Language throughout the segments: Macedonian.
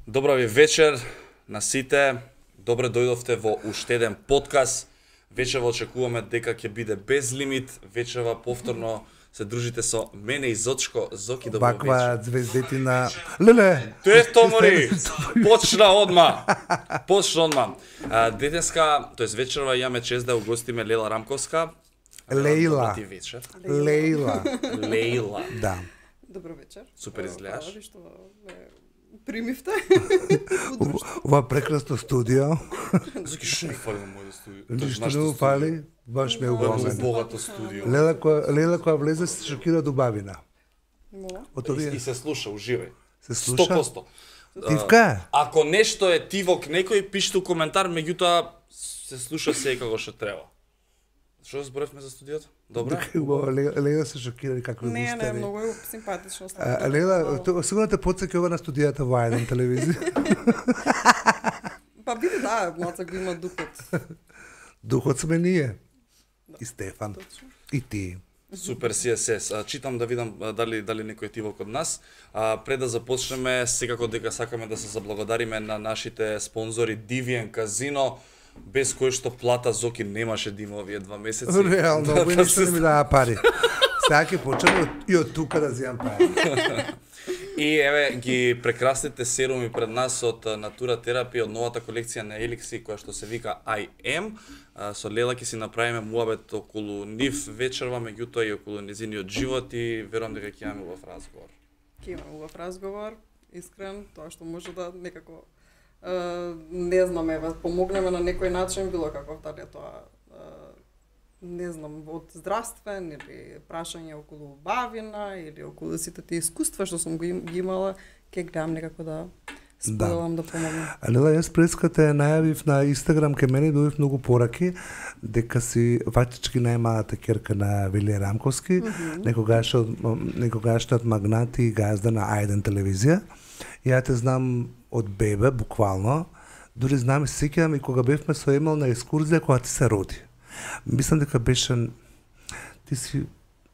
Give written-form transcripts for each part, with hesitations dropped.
Добра ви вечер на сите. Добре дојдовте во уште еден подкаст. Вечерва очекуваме дека ќе биде без лимит. Вечерва повторно се дружите со мене и Зочко. Зоки, добро вечер. Ваква звездетина. Леле! Тој томори. Почна одма. Детенска, тоест вечерва имаме чест да угостиме Лела Рамковска. Лейла. Добро вечер. Лейла. Лейла. Да. Добро вечер. Супер изгледаш. Хвала ви што ме примивте. Ова прекрасно студио. Зоки, што ми фали во моето студио? Ништо не му фали, баш ме угомен. Богато студио. Лела која влезе се шокира до бабина. Од овие И се слуша, уживај. се слуша. 100%. Тивка? Ако нешто е тивок некој, пишете коментар, меѓутоа се слуша секако што треба. Што зборевме за студиото? Добра? Лела се шокира какви Не, густари. многу е симпатично. Лела, сигурно те потсеќа ова на студијата во еден телевизија. Па биде да, малце го има духот. Духот сме ние. И Стефан. И ти. Супер CSS. Читам да видам дали некој тивок од нас. Пред да започнеме, секако дека сакаме да се заблагодариме на нашите спонзори Divian Casino, без кој што плата Зоки немаше да има овие 2 месеци. Реално, овој ништо не ми дава пари. Сега ќе почнем и од тука да земам пари. И еве ги прекрасните серуми пред нас од Natura Therapy, од новата колекција на Elixi која што се вика I Am. Со Лела ќе си направиме муабет околу нив вечерва, меѓутоа и околу незиниот живот и верувам дека ќе имаме убав разговор. Ќе имаме убав разговор, искрен, тоа што може да некако не знам, еве, помогнеме на некој начин, било каков, дали е тоа не знам, од здравствен или прашање околу бавина или околу сите тие искуства што сум ги имала, ќе гледам некако да споделам, да помогнам. Лела, јас прескате најавив на Инстаграм кај мене, добив многу пораки дека си фактички најмалата ќерка на Вилија Рамковски, некогашниот магнат и газда на А1 телевизија. Ја те знам од бебе, буквално. Дури знам и се сеќавам и кога бевме со Емил на екскурзија кога ти се роди. Мислам дека беше ти си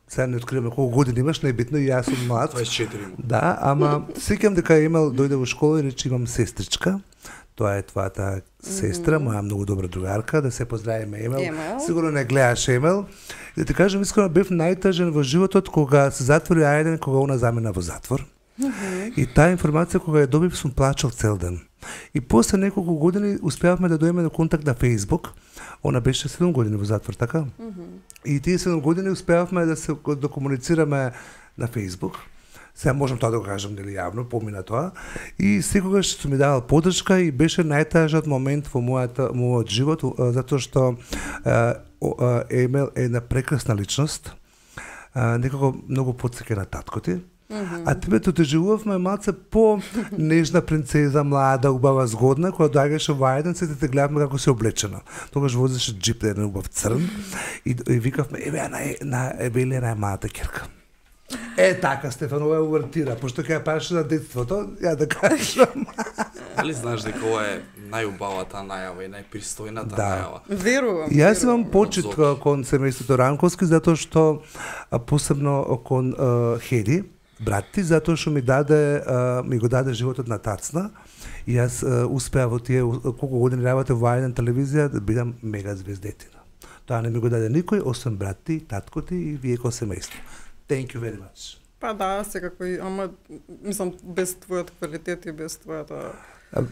сега не откриваме колку години имаш, најбитно и јас сум млад. 24. Да, ама сеќавам дека Емил дојде во школа и рече имам сестричка. Тоа е твојата сестра, моја многу добра другарка, да се поздравиме Емил. Сигурно не гледаш Емил. И да ти кажам искрено бев најтажен во животот кога се затвори Ајден, кога она замина во затвор. И таа информација кога ја добив сум плачал цел ден. И после неколку години успеавме да дојдеме до контакт на Facebook. Она беше 7 години во затвор, така? И тие 7 години успеавме да комуницираме на Facebook. Сега можам тоа да го кажам нели јавно, помина тоа. И секогаш сум ми давал поддршка и беше најтажниот момент во мојот живот, затоа што Емил е една прекрасна личност. Некако многу потсеќа на татко ти. А тебе те доживувавме малце по-нежна принцеза, млада, убава, згодна, која доаѓаше во Ајден, се те гледавме како се облечена. Тогаш возеше джип, еден убав црн, и викавме, еве, на Евелија најмалата ќерка. Така, Стефан, ова е увертира, пошто ќе ја правиш на детството, ја да кажам. Дали знаеш дека ова е најубавата најава и најпристојната најава? Верувам. Јас имам почит кон семејството Ранковски, затоа што посебно кон Хеди, брат ти, затоа што ми го даде животот на тацна и јас успеа во тие колку години работев во Ајден телевизија да бидам мега звездетина. Тоа не ми го даде никој, освен брат ти, татко ти и вие ко семејство. Thank you very much. Па да, секако, ама мислам без твојот квалитет и без твојата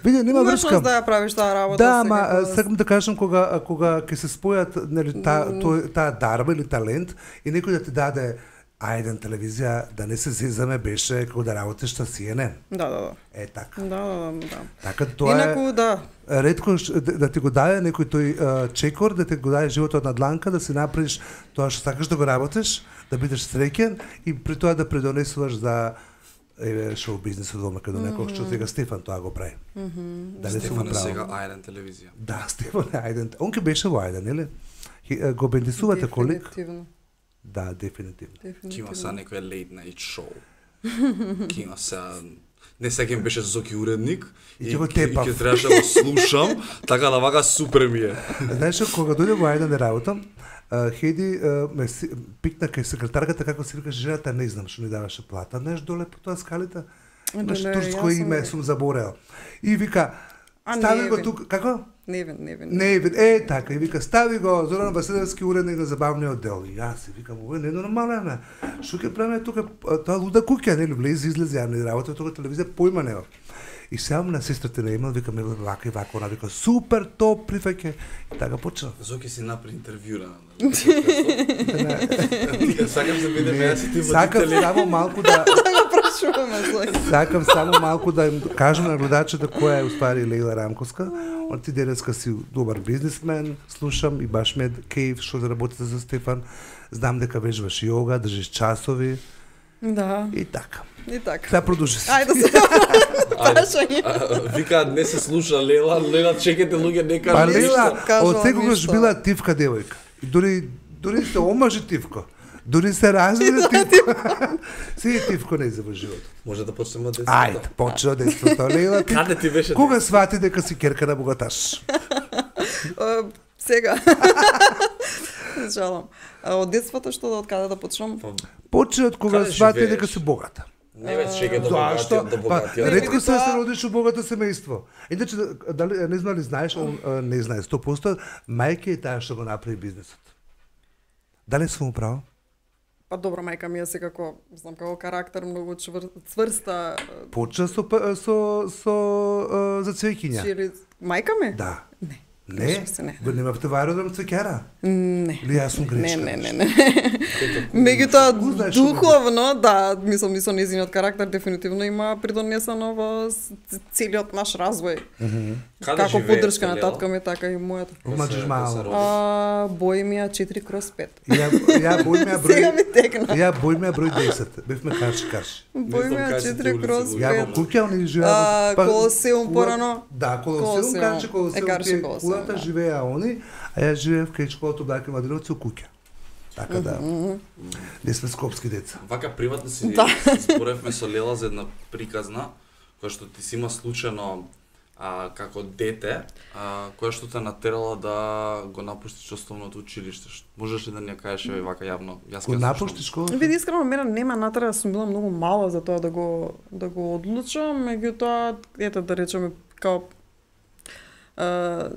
Види, нема врска. Можеш да ја правиш таа работа. Да, ама сакам да кажам кога ќе се спојат нели таа дарба или талент и некој да ти даде Ајден телевизија, да не се зезаме, беше како да работиш на CNN. Да. Така. Да. Така тоа инаку, да. Ретко да ти го даде некој тој чекор, да ти го даде животот на дланка, да си направиш тоа што сакаш да го работиш, да бидеш среќен и при тоа да предонесуваш за шоу бизнисот во Македонија, како што сега Стефан тоа го прави. Стефан е сега Ајден телевизија. Да, Стефан е Ајден. Он ке беше во Ајден, нели? Го бендисувате колик? Да, дефинитивно. Ке има са некој late night show. Ке има са... Не сега ми беше Зоки уредник и ќе требаше да го слушам, така да вака супер ми е. Знаеш, кога дојде во Ајден да работам, Хеди ме пикна кај секретарката како се викаше жената, не знам што ни даваше плата, знаеш доле по тоа скалите. турско име сум заборел. И вика, стави го тука, како? Невин. Така, и вика, стави го Зоран Василевски, уредник на забавниот оддел. И јас си викам, ова не е нормално, Што ќе правиме тука, тоа луда куќа, нели, влези, излези, ја не работа тука телевизија, појма нема. И сеам на сестрата на Емил, викам, вака и вака, она вика, супер, топ, прифаќа. И така почна. Зоки си напри интервјура. Сакам да бидем јас и ти водители. Сакам само малку да им кажам на гледачите која е уствари Лејла Рамковска. Он ти денеска си добар бизнисмен, слушам и баш ме кејф што да работите за Стефан. Знам дека вежбаш јога, држиш часови. Да. И така. Да продолжи се. Ајде се. Вика не се слуша Лела, чекате луѓе не кажа. Па Лела, од секогаш била тивка девојка. И дури се омажи тивка. Дури се развиде тивка. Си тивко не за во живот. Може да почнеме од детството. Ајде, почне од детството. Лела, каде ти беше? Кога свати дека си керка на богаташ? Сега. Жалам. Од детството што од каде да почнам? Почне од кога свати дека си богата. Не веќе чека до богатиот. Ретко се родиш у богато семејство. Иначе дали не знали знаеш, не знаеш 100%, мајка е таа што го направи бизнисот. Дали сум право? Па добро, мајка ми е секако, знам како карактер многу цврста. Почна со за цвеќиња. Мајка ми? Да. Не. Го немавте во аеродром цвеќара? Не. Ли јас сум грешка? Не. Меѓутоа духовно, да, мислам и со нејзиниот карактер дефинитивно има придонесено во целиот наш развој. Како поддршка на татко ми, така и мојата. Омаџиш мало. Бојмија 4/5. Ја бојмија број. Сега ми текна. Ја бојмија број 10. Бевме каш. Бојмија 4/5. Ја во куќа они живеа. Колосеум порано. Да, Колосеум, кажи Колосеум. Живеа они, а ја живеев кај школата Блаки Мадриновци у куќа. Така да. Не сме скопски деца. Вака приватно си зборевме со Лела за една приказна која што ти си има случајно како дете, која што те натерала да го напуштиш основното училиште. Можеш ли да ни ја кажеш вака јавно? Јас го напуштиш школата? Види, искрено мене нема натера, сум била многу мала за тоа да го одлучам, меѓутоа ете да речеме као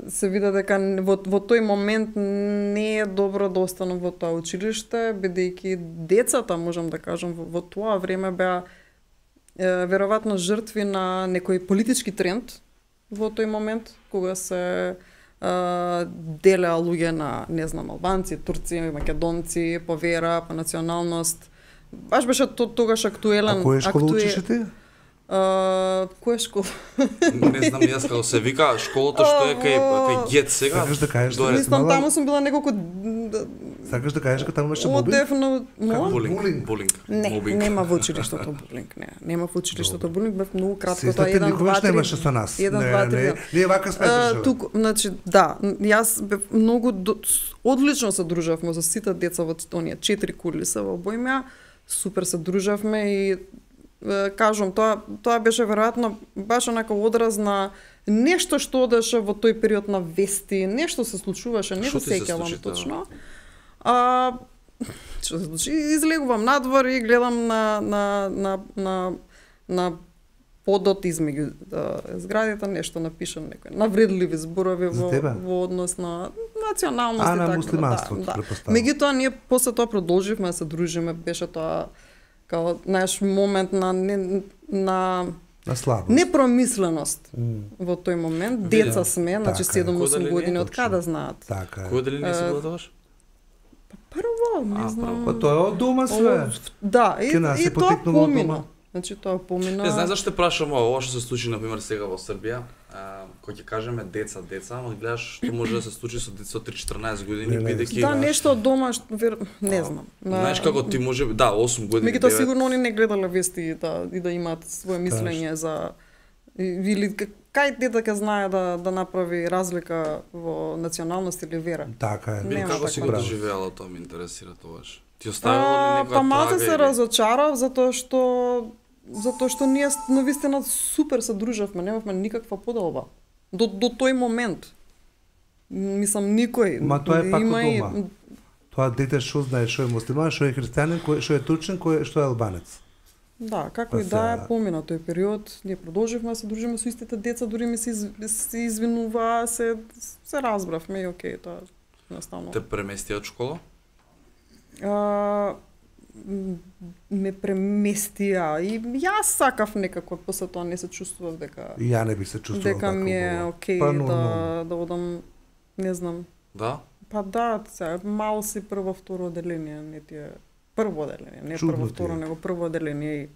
се вида дека во тој момент не е добро да останам во тоа училиште, бидејќи децата, можам да кажам, во тоа време беа веројатно жртви на некој политички тренд во тој момент, кога се делеа луѓе на, не знам, албанци, турци, македонци, по вера, по националност. Баш беше тогаш актуелен. А која школа учиш ти? Која школа? Не знам јас како се вика, школата што е кај Гет сега. Сакаш да кажеш дека мислам таму сум била неколку. Сакаш да кажеш дека таму беше булинг? Одевно, булинг. Не, нема во училиштето булинг, не. Нема во училиштето булинг, бев многу кратко, тоа 1-2 никогаш немаше со нас. 1-2 3. Ние вака сме дружеви. Туку, значи, да, јас бев многу одлично се дружевме со сите деца во оние 4 кулиса во Бојмја. Супер се дружевме и кажам, тоа беше веројатно баш онака одраз на нешто што одеше во тој период на вести, нешто се случуваше, не се сеќавам точно. Што се случи? Излегувам надвор и гледам на подот измеѓу зградите нешто напишано некој навредливи зборови во однос на националност и така. Муслиманството, претпоставам. Меѓутоа ние после тоа продолживме да се дружиме, беше тоа као наш момент на слабост, непромисленост во тој момент. Деца сме, значи 7-8 години, од каде знаат. Така. Кој дали не си била тогаш? Прво, не знам. Па тоа е од дома све. Да, и тоа помина. Значи тоа помина. Не знаеш зашто те прашам ова што се случи на пример сега во Србија, кој ќе кажеме деца, ама гледаш што може да се случи со деца од 3-14 години бидејќи да нешто од дома не знам. Знаеш како ти може да 8 години. Меѓутоа сигурно они не гледале вести и да имаат свое мислење за или кај дете ќе знае да направи разлика во националност или вера. Така е. Како си го доживеала тоа, ме интересира тоа. Ти оставила ли некоја па малку се разочарав затоа што ние навистина супер се дружевме, немавме никаква поделба. До тој момент. Мислам никој. Ма тоа е пак од дома. Тоа дете што знае што е муслиман, што е христијанин, што е турчин, што е албанец. Да, како и да е помина тој период, ние продолживме да се дружиме со истите деца, дури ми се извинуваа, се разбравме и окей, тоа наставно. Те премести од школа? Ме преместија и јас сакав некако, после тоа не се чувствував дека И ја не би се чувствував дека ми е окей да одам, не знам. Да? Па да, сега мал си прво, второ оделение, не ти е прво оделение, не прво, второ, него прво оделение и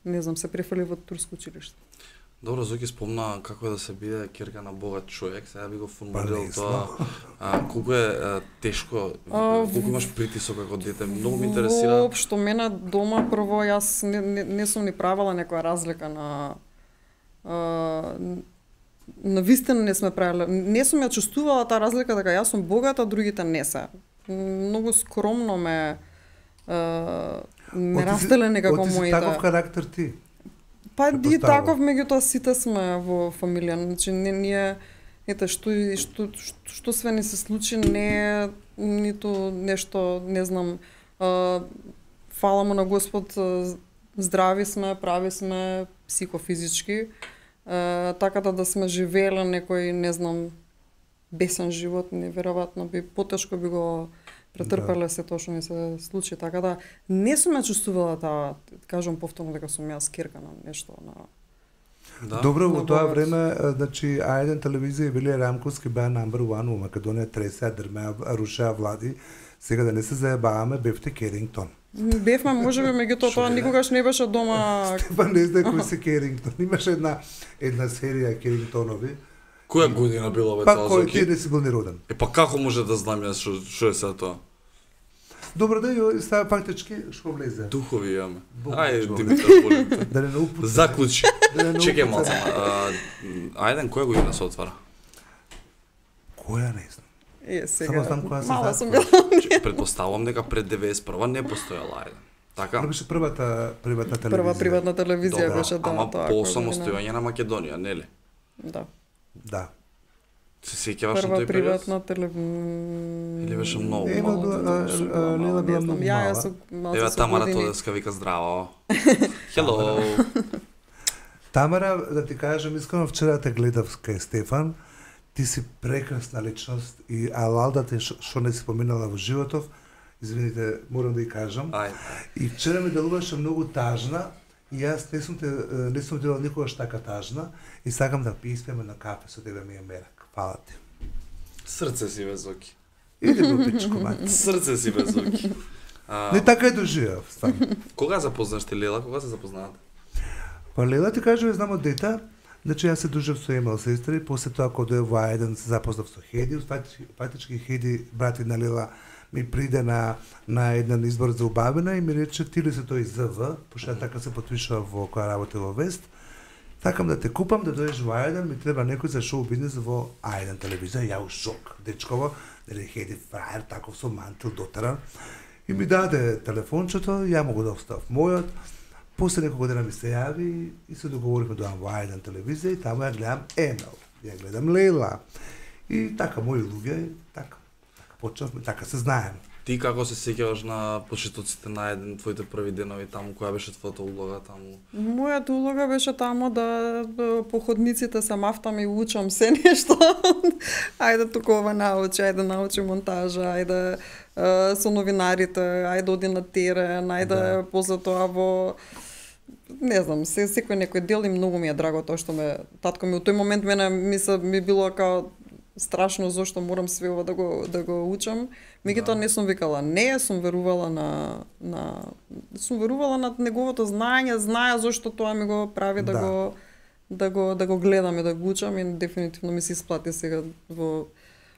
не знам, се префрли во турско училиште. Добро, Зоки спомна како е да се биде ќерка на богат човек, сега би го формулирал тоа. Колку е тешко, колку имаш притисок како дете, многу ме интересира. Воопшто, мене дома прво, јас не сум ни правила некоја разлика на вистина не сме правиле. Не сум ја чувствувала таа разлика дека јас сум богата, а другите не се. Многу скромно ме растеле некако моите. Оти си таков карактер ти? Па и таков, меѓутоа сите сме во фамилија. Значи ние што све ни се случи не е ниту нешто, не знам, фала му на Господ, здрави сме, прави сме психофизички. Така да сме живееле некој, не знам, бесен живот, неверојатно би потешко би го претрпеле се тоа што ми се случи, така да не сум ја чувствувала таа, кажам повторно дека сум јас ќерка на нешто на. Да? Добро, во тоа време, значи, А1 телевизија и Вилија Рамковски беа number 1 во Македонија, тресеа, дрмеа, рушеа влади. Сега да не се заебаваме, бевте Керингтон. Бевме, можеби, меѓутоа тоа никогаш не беше дома. Стефан не знае кој се Керингтон. Имаше една серија Керингтонови. Која година била бе тоа? Па кој ти не си бил ни роден? Па како може да знам јас што е сега тоа? Добро да ја става фактички што влезе. Духови јаме. Ајде Димитар, молим те. Да не упусти. Заклучи. Чекај малку. Ајде, која година се отвара? Која не знам. Сега. Само знам која се мала сум затвора. била. Предпоставувам дека пред 91 не постоела Ајде. Така? Това беше првата телевизија. Прва приватна телевизија беше да. Ама по самостојање на Македонија, нели? Да. Да. Се сеќаваш на тој период? Прва приватна телевизија. Или беше многу? Лела била многу мала. Ева Тамара Тодеска вика здраво. Хело. Тамара, да ти кажам, искрено вчера те гледав кај Стефан. Ти си прекрасна личност и алалдата што не си поминала во животов. Извините, морам да ја кажам. И вчера ми делуваше многу тажна и јас не сум делал никогаш така тажна и сакам да писпеме на кафе со тебе ми е мерак. Фала ти. Срце си бе, Зоки. Иди го пичко, мати. Срце си бе, Зоки. Не така е доживав, стварно. Кога запознаш ти Лела? Кога се запознаат? Па Лела ти кажа, знам од дета, значи јас се дружев со Емел сестри, после тоа кога дојде во А1 се запознав со Хеди, фактички Хеди, брати на Лела, ми приде на еден избор за убавина и ми рече ти ли се тој ЗВ, пошто така се потпишува во која работи во Вест. Сакам да те купам да дојдеш во А1, ми треба некој за шоу бизнес во А1 телевизија, ја у шок, дечково, дали Хеди фраер, таков со мантил дотеран. И ми даде телефончето, ја му го доставав мојот. После неколку дена ми се јави и се договоривме да дојам во А1 телевизија и таму ја гледам Емел, ја гледам Лела. И така мои луѓе, така почнавме, така се знаеме. Ти како се сеќаваш на почетоците на еден твоите први денови таму, која беше твојата улога таму? Мојата улога беше таму да по ходниците се мафтам и учам се нешто. Ајде туку ова научи, ајде научи монтажа, ајде со новинарите, ајде оди на терен, ајде после тоа во не знам, секој некој дел и многу ми е драго тоа што татко ми у тој момент ми било као страшно зошто морам све ова да го учам. Меѓутоа не сум викала не, сум верувала на неговото знаење, знаја зошто тоа ми го прави да го гледам и да го учам и дефинитивно ми се исплати сега во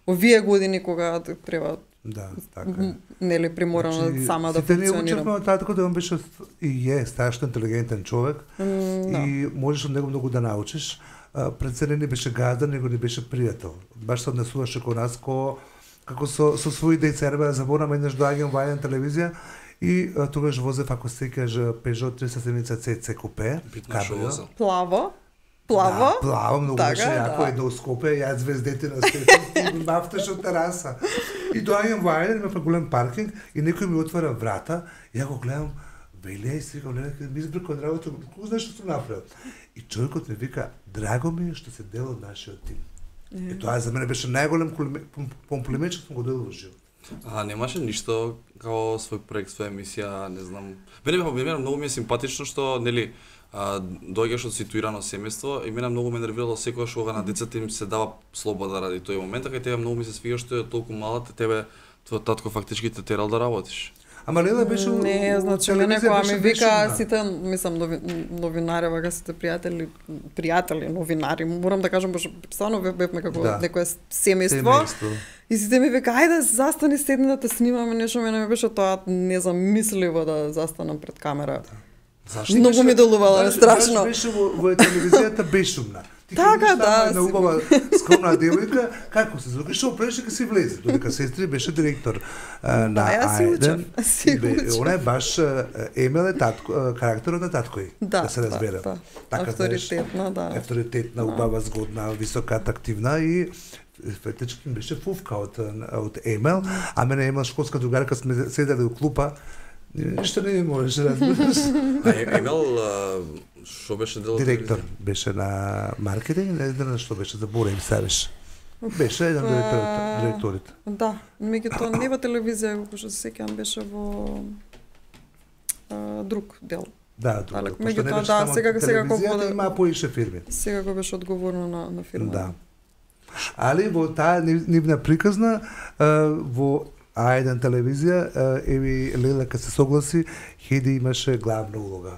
овие години кога треба. Да, така. Нели приморано сама да функционирам. Сите не учевме од татко да он беше и е страшно интелигентен човек и можеш од него многу да научиш. Пред се не беше газдан, него не беше пријател. Баш се однесуваше кон нас како со своји деца. Ја заборам еднаш доаѓам во А1 телевизија и тогаш возев, ако се сеќаш, Peugeot 370 CC купе. Плаво. Да, плаво, многу беше јако, едно скопе, јас звездете на Стефан и мафташ од тераса. И доаѓам во А1, има голем паркинг и некој ми отвара врата, ја го гледам, Велија и си викам, ми избркам од работа, кога знаеш што сум направил? И човекот ми вика, драго ми е што се дел од нашиот тим. И тоа за мене беше најголем комплимент што сум го добил во живот. Немаше ништо као свој проект, своја емисија, не знам. Мене многу ми е симпатично што, нели, доаѓаш од ситуирано семејство и мене многу ме нервирало секогаш кога на децата им се дава слобода ради тој момент, кај тебе многу ми се свига што е толку мала, тебе твојот татко фактички те терал да работиш. Ама Лела беше не, значи мене кога ми вика сите, мислам новинари, вака сите пријатели новинари, морам да кажам баш стварно бевме како некое семејство. И сите ми вика ајде застани седни да те снимаме нешто, мене ми беше тоа незамисливо да застанам пред камера. Зашто? Многу ми делувало страшно. Беше во телевизијата бешумна. Така, да. На убава скромна девојка, како се звука, што преше ка си влезе, додека сестри беше директор на Ајден. Она е баш Емел е карактерот на таткој, да се разбере. Така авторитетна, да. Авторитетна, убава, згодна, висока, атрактивна и фетички беше фувка од Емел, а мене Емел школска другарка сме седеле у клупа. Ништо не можеше да разбереш. Емел, што беше дел? Директор беше на маркетинг, не знам што беше, заборем савеш. Беше еден директорите. Да, меѓутоа не во телевизија, што се сеќавам беше во друг дел. Да, друг. Меѓутоа да, сега телевизијата има поише фирми. Сега го беше одговорно на фирма. Да. Али во таа нивна приказна во Ајден телевизија, еви Лела кога се согласи, Хеди имаше главна улога.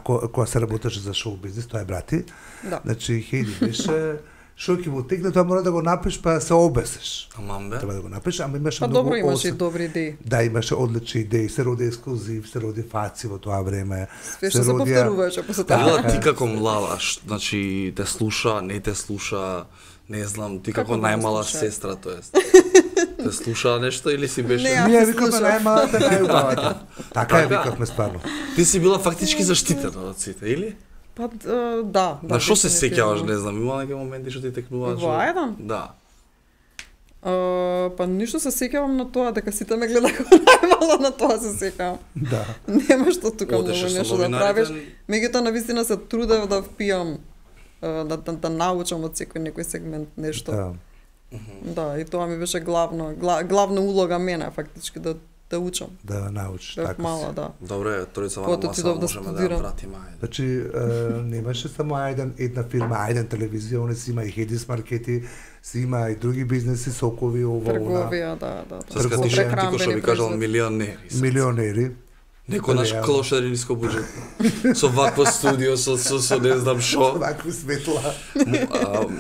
Кога се работеше за шоу бизнес, тоа е брати. Да. Значи Хеди беше што ќе го тегне, тоа мора да го напиш па се обесеш. Амамбе. Треба да го напиш, ама имаше многу. Па добро имаше и добри идеи. Да, имаше одлични идеи, се роди ексклузив, се роди фаци во тоа време. Све што се повторуваше после тоа. Лела, ти како млада, значи те слуша, не те слуша, не знам, ти како најмала сестра, тоест. Те слуша нешто или си беше? Ние викавме најмалата, најубавата. Така е викавме стварно. Ти си била фактички заштитена од сите, или? Па да. На што се сеќаваш, не знам, има некои моменти што ти текнуваат? Во Ајден? Да. Па ништо се сеќавам на тоа, дека сите ме гледаха најмало, на тоа се сеќавам. Да. Нема што тука многу нешто да правиш. Меѓутоа навистина се трудев да впијам, да научам од секој некој сегмент нешто. Да. Да, и тоа ми беше главна улога мене фактички да учам. Да научиш, така си. Мала, да. Добре, тројца вама маса можеме да ја вратиме. Значи, немаше само една фирма, Ајден телевизија, они си има и Хедис маркети, си има и други бизнеси, сокови, ова, трговија, да. Сега ти што би кажал милионери. Милионери. Некој наш клошари нискобуџетно. Со вакво студио, со не знам шо. Вакво светла.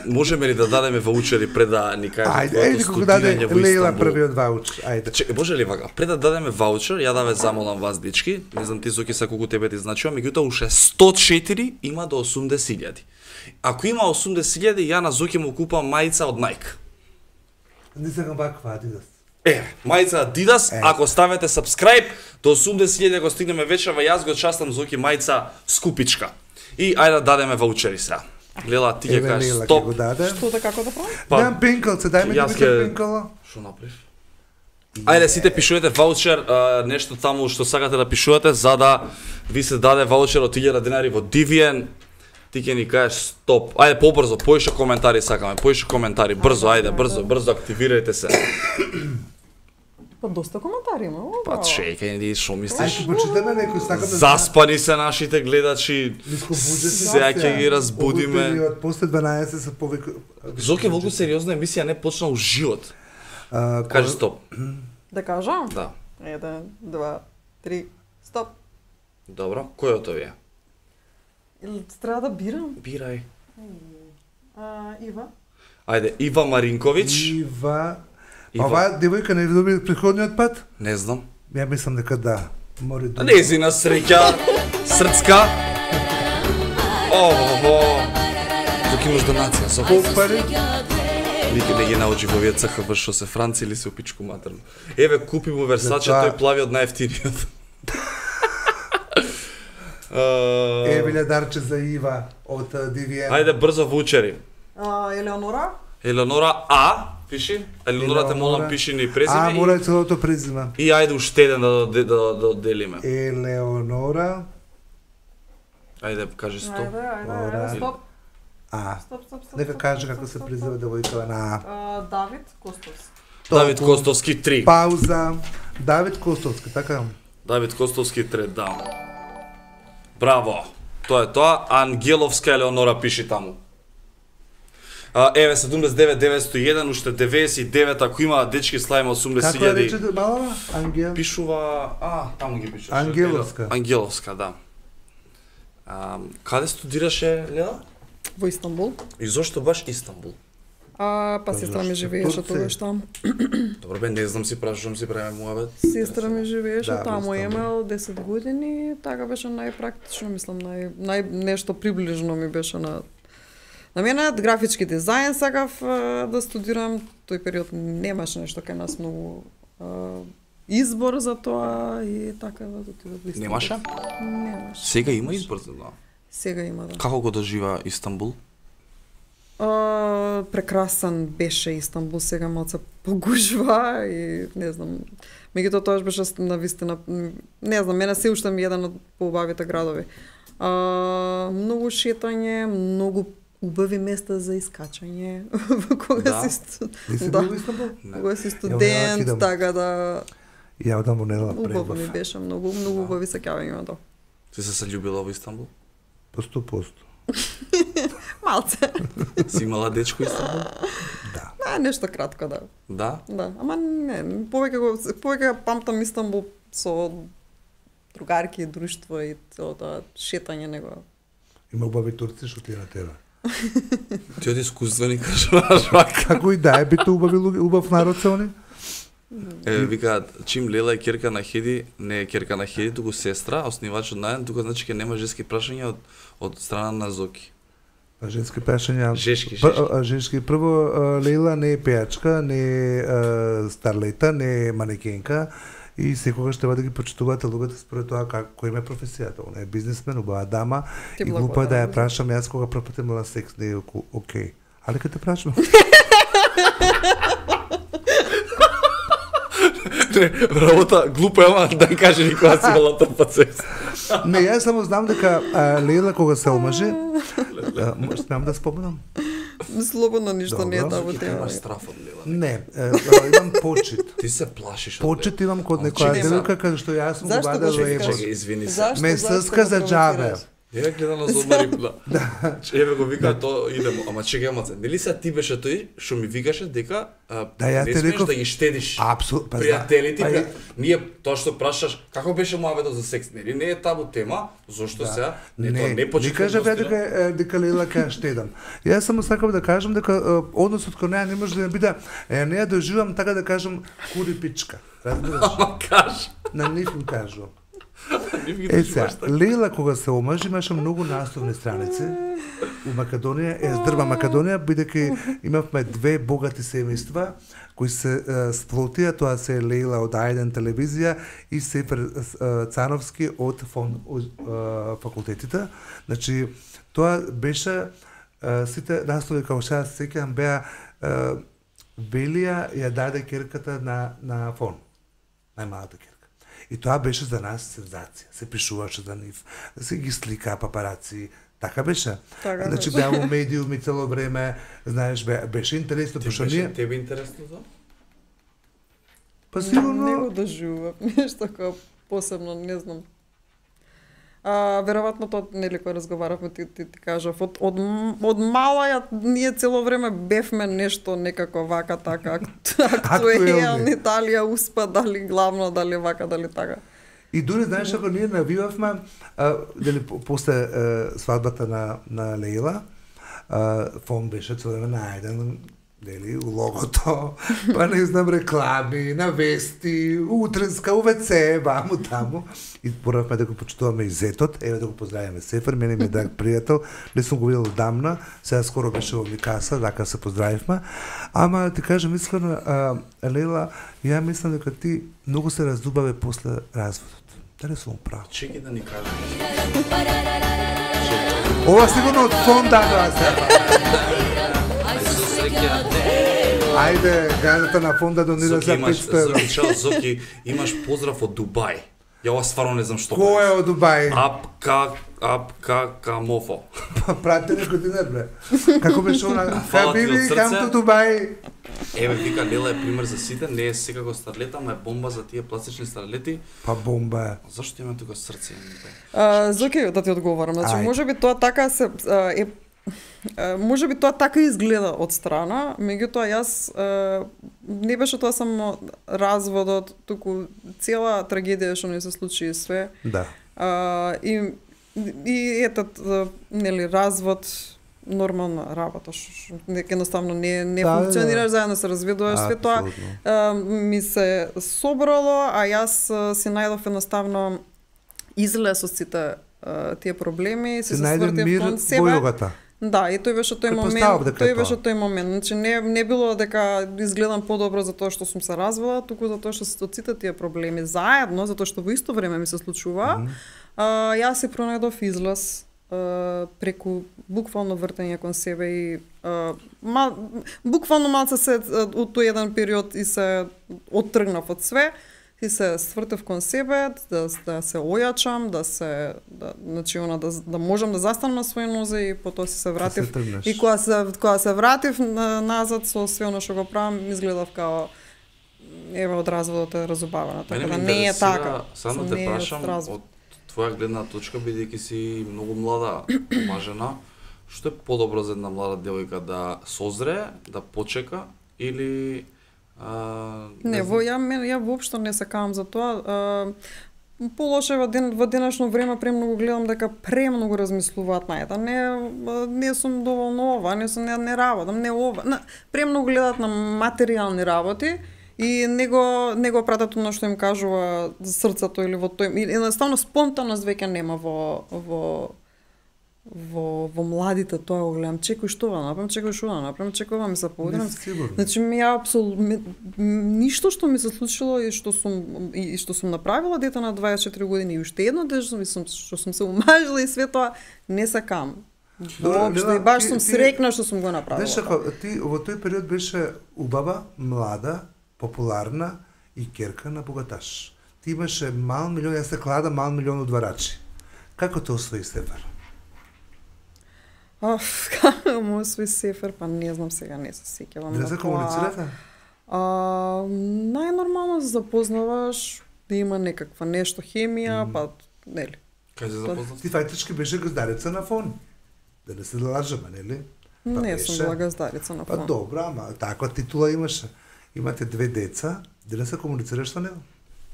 Можеме ли да дадеме ваучери пред да ни кажат твоето студирање во Истанбул? Лейла првиот ваучер, ајде. Чекај, може ли вака? Пред да дадеме ваучер, ја да ве замолам вас, дечки, не знам ти Зоки са колку тебе ти значува, меѓутоа уште 104 има до 80.000. Ако има 80.000, ја на Зоки му купам мајца од Nike. Не сакам ваква Адидас. Мајца Adidas, ако ставите subscribe, до 80.000 го стигнеме вечерва, јас го частам Зоки мајца скупичка. И ајде да дадеме ваучери сега. Лела, ти ќе кажеш стоп. Што да како да правам? Немам пенкалце, дај ми да пенкала. Што направиш? Ајде сите пишувате ваучер, нешто таму што сакате да пишувате, за да ви се даде ваучер од 1000 денари во Divian. Ти ќе ни кажеш стоп. Ајде побрзо, поише коментари сакаме, поише коментари, брзо, ајде, брзо активирајте се. Па доста коментари има. Па чекај, ти што мислиш? Ајде почитаме некој сакаме. Заспани се нашите гледачи. Сега ќе ги разбудиме. После 12 се повеќе. Зоки волку сериозна емисија не почна уживот. Кажи стоп. Да кажам? Да. 1, 2, 3, стоп. Добро, кој од овие? Или треба да бирам? Бирај. Ива. Ајде, Ива Маринковиќ. Ива. Ова девојка не доби претходниот пат? Не знам. Ја мислам дека да. Мори да. Незина среќа, срцка. Зоки имаш донација, со колку пари? Никој не ги научи во овие ЦХВ што се Франци или се опичку матерно. Еве купи му Версаче, тој плави од најефтиниот. Еве дарче за Ива од Divian. Ајде брзо вучери. Елеонора? Елеонора А. Пиши. Елеонора, те молам, пиши ни презиме. Мора целото презиме. И ајде уште еден да одделиме. Елеонора. Ајде, кажи стоп. Ајде, стоп. Стоп. Нека каже како се презива девојкава на Давид Костовски. Давид Костовски 3. Пауза. Давид Костовски, така? Давид Костовски 3, да. Браво. Тоа е тоа. Ангеловска Елеонора пиши таму. Еве 79 уште 99, ако има дечки слајма 80.000. Како е речете малава? Ангел? Пишува, таму ги пишуваше. Ангеловска. Ангеловска, да. Каде студираше, Леа? Во Истанбул. И зошто баш Истанбул? Па сестра ми живееше тогаш таму. Добро бе, не знам, си прашувам, си правиме муабет. Сестра ми живееше таму, имал 10 години, така беше најпрактично, мислам, нешто приближно ми беше на мене. Графички дизајн сакав да студирам, тој период немаше нешто кај нас многу избор за тоа и така да отидов во Истанбул. Немаше? Немаше. Сега има избор за тоа? Сега има, да. Како го дожива Истанбул? Прекрасен беше Истанбул, сега малце погужва и не знам. Меѓутоа тоа беше навистина, не знам, мене се уште ми еден од поубавите градови. Многу шетање, многу убави места за искачање. Кога си студент, така да. Ја одам во недела пред. Убаво ми беше, многу убави сеќавања тоа. Ти се љубила во Истанбул? По 100%. Малце. Си имала дечко Истанбул? Да. Нешто кратко, да. Да? Да, ама не, повеќе памтам Истанбул со другарки, друштво и целото шетање него. Има убави турци што ти на тебе. Ти од искуствени кажуваш вака. Како и да е бите убав народ се они? Викаат, чим Лела е керка на Хеди, не е керка на Хеди, туку сестра, основач од најден, тука значи ке нема женски прашања од страна на Зоки. Женски прашања. Жешки. Прво, Лейла не е пејачка, не е старлета, не е манекенка и секогаш треба да ги почитувате луѓето според тоа кој има професијата. Она е бизнисмен, убава дама и глупо е да ја прашам јас кога прв пат имала секс, не е окей. Али кога те прашам? Работа, глупо е, ама да каже никога си имала прв пат секс. Не, јас само знам дека Лейла кога се омажи, смеам да споменам. Слободно ништо не е табу тема. Имаш страф од Лела. Не, имам почит. Ти се плашиш од Лела. Почит имам код некоја девојка каде што јас сум го бадал лево. Извини се. Ме съска за джабе. Ја гледа на Зодмари, да. Еве го вика тоа идемо, ама чекај маце. Нели се ти беше тој што ми викаше дека не смееш да ги штедиш. Апсолутно. Пријателите, ние тоа што прашаш, како беше муабетот за секс, нели не е табу тема, зошто сега не почитам. Не кажа дека Лела ка штедам. Јас само сакам да кажам дека односот кон неа не може да биде, не ја доживам така да кажам кури пичка. Разбираш? Ама кажа. На нив им кажувам. Лейла кога се омажи имаше многу насловни страници у Македонија, здрва Македонија, бидејќи имавме две богати семејства кои се сплотија, тоа се Лейла од А1 телевизија и Сефер Цановски од факултетите. Значи, тоа беше сите наслови како што се сеќавам беа Велија ја даде керката на Фон, најмалата керка. И тоа беше за нас сензација. Се пишуваше за нив, се ги сликаа папараци, така беше. Значи беа во медиуми цело време, знаеш, беше интересно, пошто ние... Тебе интересно за? Па сигурно... Не го доживувам, нешто како посебно, не знам. Веројатно тоа нели кој разговаравме ти кажав од мала ние цело време бевме нешто некако вака така актуелни, Италија успа дали главно, дали вака, дали така. И дури знаеш ако ние навивавме дали после свадбата на Лейла, Фон беше цело време најден дели у логото, па не знам реклами, на вести, утренска, УВЦ, ваму таму. И поравме да го почитуваме и зетот, еве да го поздравиме Сефер, мене ми е драг пријател, не сум го видел одамна, сега скоро беше во Микаса, така се поздравивме. Ама ти кажам искрено, Лейла, ја мислам дека ти многу се раздубаве после разводот. Дали сум прав? Чеки да ни кажеш. Ова сигурно од Фон дадоа се. Ајде, газата на фонда донира за 500 евра. Чао, Зоки, имаш поздрав од Дубај. Ја ова стварно не знам што. Кој е од Дубај? Камофо. Прати некој динер, бре. Како беше она? Хабиби, кам to Дубај. Еве, вика, Лела е пример за сите, не е секако старлета, ама е бомба за тие пластични старлети. Па бомба е. Зашто има тука срце? Зоки, да ти одговорам. Значи, можеби тоа така можеби тоа така изгледа од страна, меѓутоа јас не беше тоа само разводот, туку цела трагедија што не се случи и све. Да. И ето, нели, развод, нормална работа, едноставно не функционираш, заедно се разведуваш, све тоа ми се собрало, а јас си најдов едноставно излез од сите тие проблеми, си се свртив кон себе. Да, и тој беше тој момент. Значи не било дека изгледам подобро за тоа што сум се развела, туку за тоа што се сите тие проблеми заедно, затоа што во исто време ми се случува. Јас се пронајдов излаз преку буквално вртење кон себе и буквално малце се од тој еден период и се оттргнав од све. И се свртев кон себе, да се ојачам, значи да можам да застанам на своји нозе и потоа се вратив. И кога се вратив назад со све оно што го правам, изгледав као еве од разводот е разубавена, така да не е така. Само те прашам од твоја гледна точка, бидејќи си многу млада омажена, што е подобро за една млада девојка да созре, да почека или ја воопшто не се кавам за тоа. Полоше во денешно време премногу гледам дека премногу размислуваат на ета. Не сум доволно ова, не работам, не ова. Премногу гледаат на материјални работи и не го пратат оно што им кажува срцето или во тој. Едноставно спонтанност веќе нема во младите, тоа го гледам, чекај што да направам, чекава ми се поудрам. Значи ништо што ми се случило и што сум направила дете на 24 години и уште едно дете што сум се омажила и све тоа не се кам. Воопшто и баш сум среќна што сум го направила. Знаеш како, ти во тој период беше убава, млада, популарна и керка на богаташ. Ти имаше мал милион, јас се клада мал милион одварачи. Како те освои Сефер? Како му освои Сефер, па не знам сега, не се сеќавам. Не се комуницирате? Најнормално се запознаваш, да има некаква нешто хемија, па нели. Кај се запознав? Ти фактички беше газдарица на фон. Да не се лажеме, нели? Не сум била газдарица на фон. Па добра, ама таква титула имаше. Имате 2 деца, да се комуницираш со него?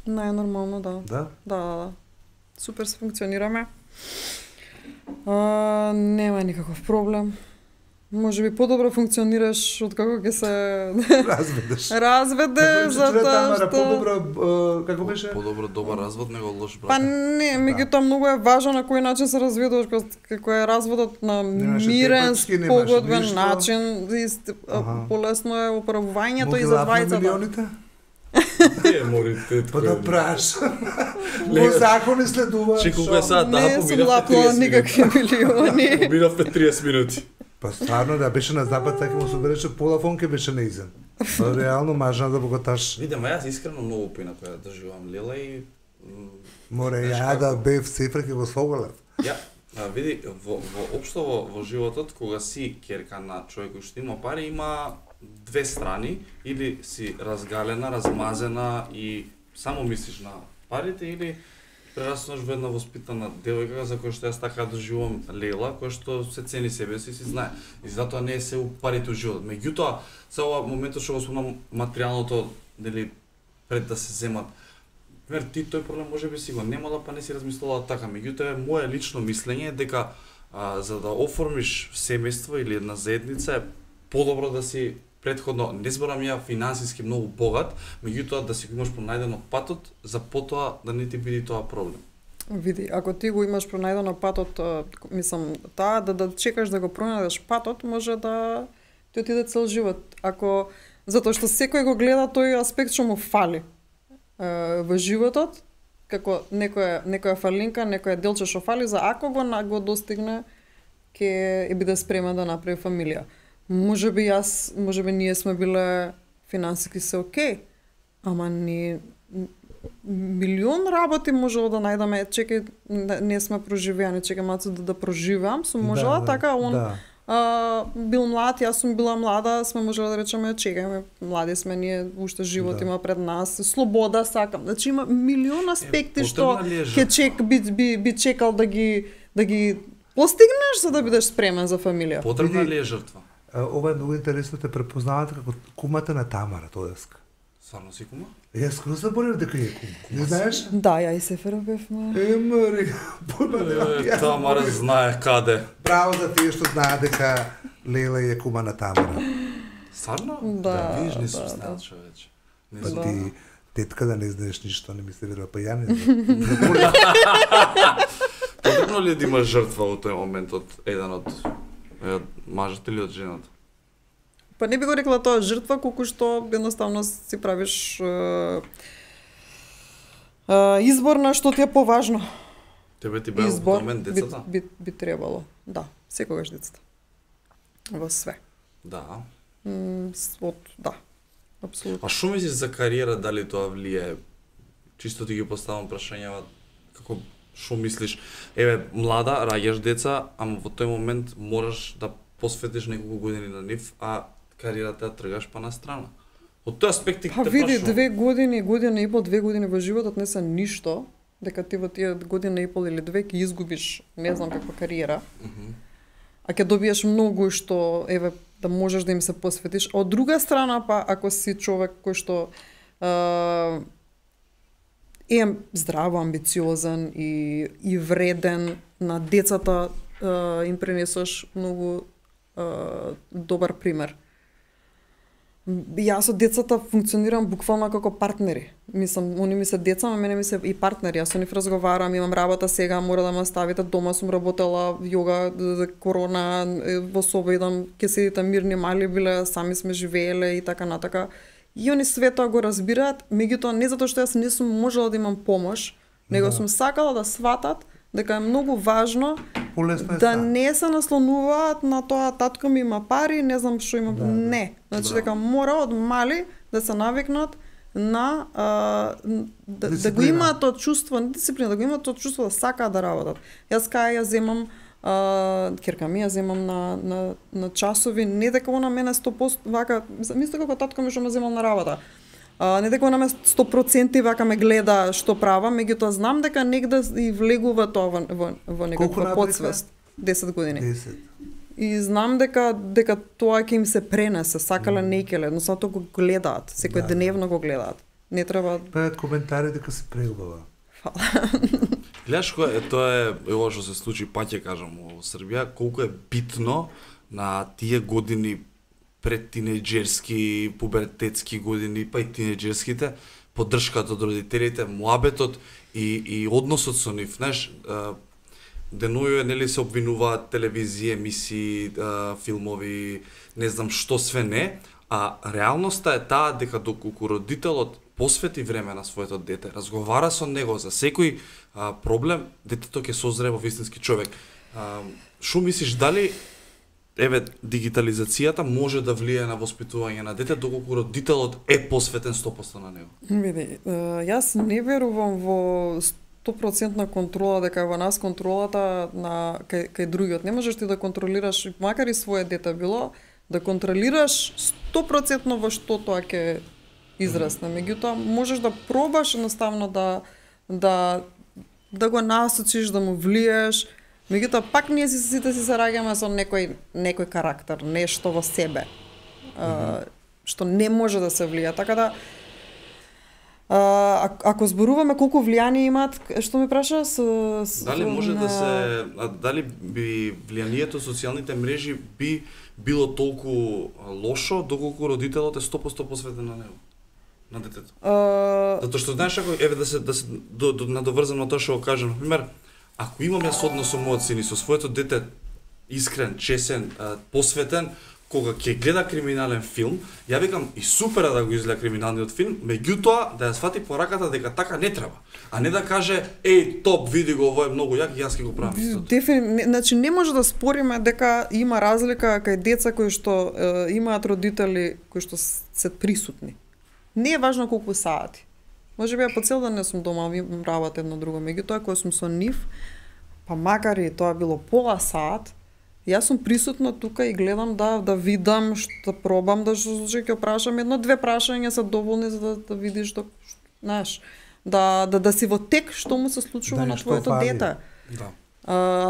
Најнормално, да. Да? Да. Супер се функционираме. Нема никаков проблем. Може би подобро функционираш од како ќе се разведеш затоа што подобро како беше? Подобро добар развод него лош брак. Па не, меѓутоа многу е важно на кој начин се разведуваш, како е разводот на мирен, спогодбен начин, полесно е оправувањето и за двајцата. Па да прашам. По закони следува. Че колку е сад, не сум лапнала никакви милиони. Поминавме 30 минути. Па стварно да беше на запад, така му се береше полафон ке беше неизен. Реално мажна да богаташ. Видимо, јас искрено многу пина која доживам Лела и море ја да бев Сефер ке го слоголев. Ја, види, воопшто во животот кога си керка на човек кој што има пари, има две страни, или си разгалена, размазена и само мислиш на парите, или прераснаш во една воспитана девојка за која што јас така доживувам Лела, која што се цени себе си знае. И затоа не е се у парите у живот. Меѓутоа, за ова моментот што го спомнам материјалното, нели, пред да се земат. Пример, ти тој проблем можеби си го немала, па не си размислувала така. Меѓутоа, мое лично мислење е дека за да оформиш семејство или една заедница е подобро да си претходно, не зборам ја финансиски многу богат, меѓутоа да си го имаш пронајдено патот, за потоа да не ти биде тоа проблем. Види, ако ти го имаш пронајдено патот, мислам, таа да чекаш да го пронајдеш патот, може да ти отиде цел живот. Ако затоа што секој го гледа тој аспект што му фали во животот, како некоја фалинка, некоја делче што фали, за ако го достигне, ќе биде спремен да направи фамилија. можеби ние сме биле финансиски се окей, ама ни милион работи можело да најдеме, чекај, не сме проживеани, чекај малку да проживам, сум можела така, бил млад, јас сум била млада, сме можела да речеме, чекајме, млади сме ние, уште живот има пред нас, слобода сакам. Значи има милион аспекти што би чекал да ги постигнеш за да бидеш спремен за фамилија. Потребна ли е жртва? Ова е многу интересно, те препознавате како кумата на Тамара Тодеска. Стварно си кума? Јас скоро заборев дека е кума. Не знаеш? Да, ја и Сефера бевме. Мари, Тамара знае каде. Браво за тие што знаат дека Лела е кума на Тамара. Стварно? Да. Виж, не сум знаел човече. Па ти тетка да не знаеш ништо, не ми се верува, па ја не знам. Потребно ли е да има жртва во тој момент од еден од мажот или од жената? Па не би го рекла тоа жртва, колку што едноставно си правиш избор на што ти е поважно. Тебе ти беа во момент децата? Би требало, да, секогаш децата. Во све. Да. Да, апсолутно. А што мислиш за кариера, дали тоа влијае? Чисто ти ги поставам прашањава, како што мислиш? Еве, млада, раѓаш деца, ама во тој момент мораш да посветиш неколку години на нив, а кариерата ја тргаш па на страна. Од тој аспект ти те прашувам. Па види, 2 години, година и пол, 2 години во животот не се ништо, дека ти во тие година и пол или 2 ќе изгубиш не знам каква кариера. А ќе добиеш многу што еве да можеш да им се посветиш. Од друга страна па ако си човек кој што е здраво, амбициозен и вреден на децата, им пренесаш многу добар пример. Јас од децата функционирам буквално како партнери. Мислам, они ми се деца, а мене ми се и партнери. Јас со нив разговарам, имам работа сега, мора да ме ставите дома, сум работела јога, корона, во соба идам, ќе седите мирни, мали биле, сами сме живееле и така натака. И они све тоа го разбираат, меѓутоа не затоа што јас не сум можела да имам помош, него сум сакала да сватат дека е многу важно да не се наслонуваат на тоа татко ми има пари, не знам што има. Не. Значи дека мора од мали да се навикнат на да го имаат тоа чувство, не дисциплина, да го имаат тоа чувство да сакаат да работат. Јас кај ја земам керка ми ја земам на часови, не дека она мене 100% вака, мислам како татко ми што ме земал на работа. Не дека она ме 100% вака ме гледа што правам, меѓутоа знам дека негде и влегува тоа во некаква подсвест. 10 години. 10. И знам дека тоа ќе им се пренесе, сакале некеле, но тоа го гледаат, секој дневно го гледаат. Не треба коментари дека се преубава. Гледаш кој тоа е ова што се случи, пак ќе кажам, во Србија, колку е битно на тие години пред тинејџерски, пубертетски години, па и тинејџерските, поддршката од родителите, муабетот и односот со нив, знаеш, деноју нели се обвинуваат телевизија, емисии, филмови, не знам што све не, а реалноста е таа дека доколку родителот посвети време на своето дете, разговара со него за секој проблем, детето ќе созре во вистински човек. Што мислиш, дали дигитализацијата може да влијае на воспитување на дете доколку родителот е посветен 100% на него? Види, јас не верувам во 100% контрола, дека е во нас контролата кај другиот. Не можеш ти да контролираш, макар и свое дете било, да контролираш 100% во што тоа ќе израсне. Меѓутоа, можеш да пробаш едноставно да го насочиш, да му влиеш. Меѓутоа, пак ние сите си се раѓаме со некој карактер, нешто во себе, што не може да се влија. Така да, ако зборуваме колку влијание имаат, што ме праша? Дали може да се, дали би влијанието социјалните мрежи би било толку лошо, доколку родителот е 100% посветен на него? На детето. Затоа што знаеш, ако да се надоврзам на тоа што го кажам, например, ако имам јас однос со мојот син и со своето дете искрен, чесен, посветен, кога ќе гледа криминален филм, ја викам и супер да го изгледа криминалниот филм, меѓутоа да ја свати пораката дека така не треба, а не да каже еј топ види го, ово е многу јак и јас ќе го правам истото. Значи не може да спориме дека има разлика кај деца кои што имаат родители кои што се присутни. Не е важно колку сати. Може би ја по цел ден не сум дома, ви работам едно друго, меѓутоа кога сум со нив, па макар и тоа било пола сат, јас сум присутна тука и гледам да видам, што пробам да ќе прашам едно-две прашања се доволни за да видиш знаеш, да си во тек што му се случува на твоето дете. Да.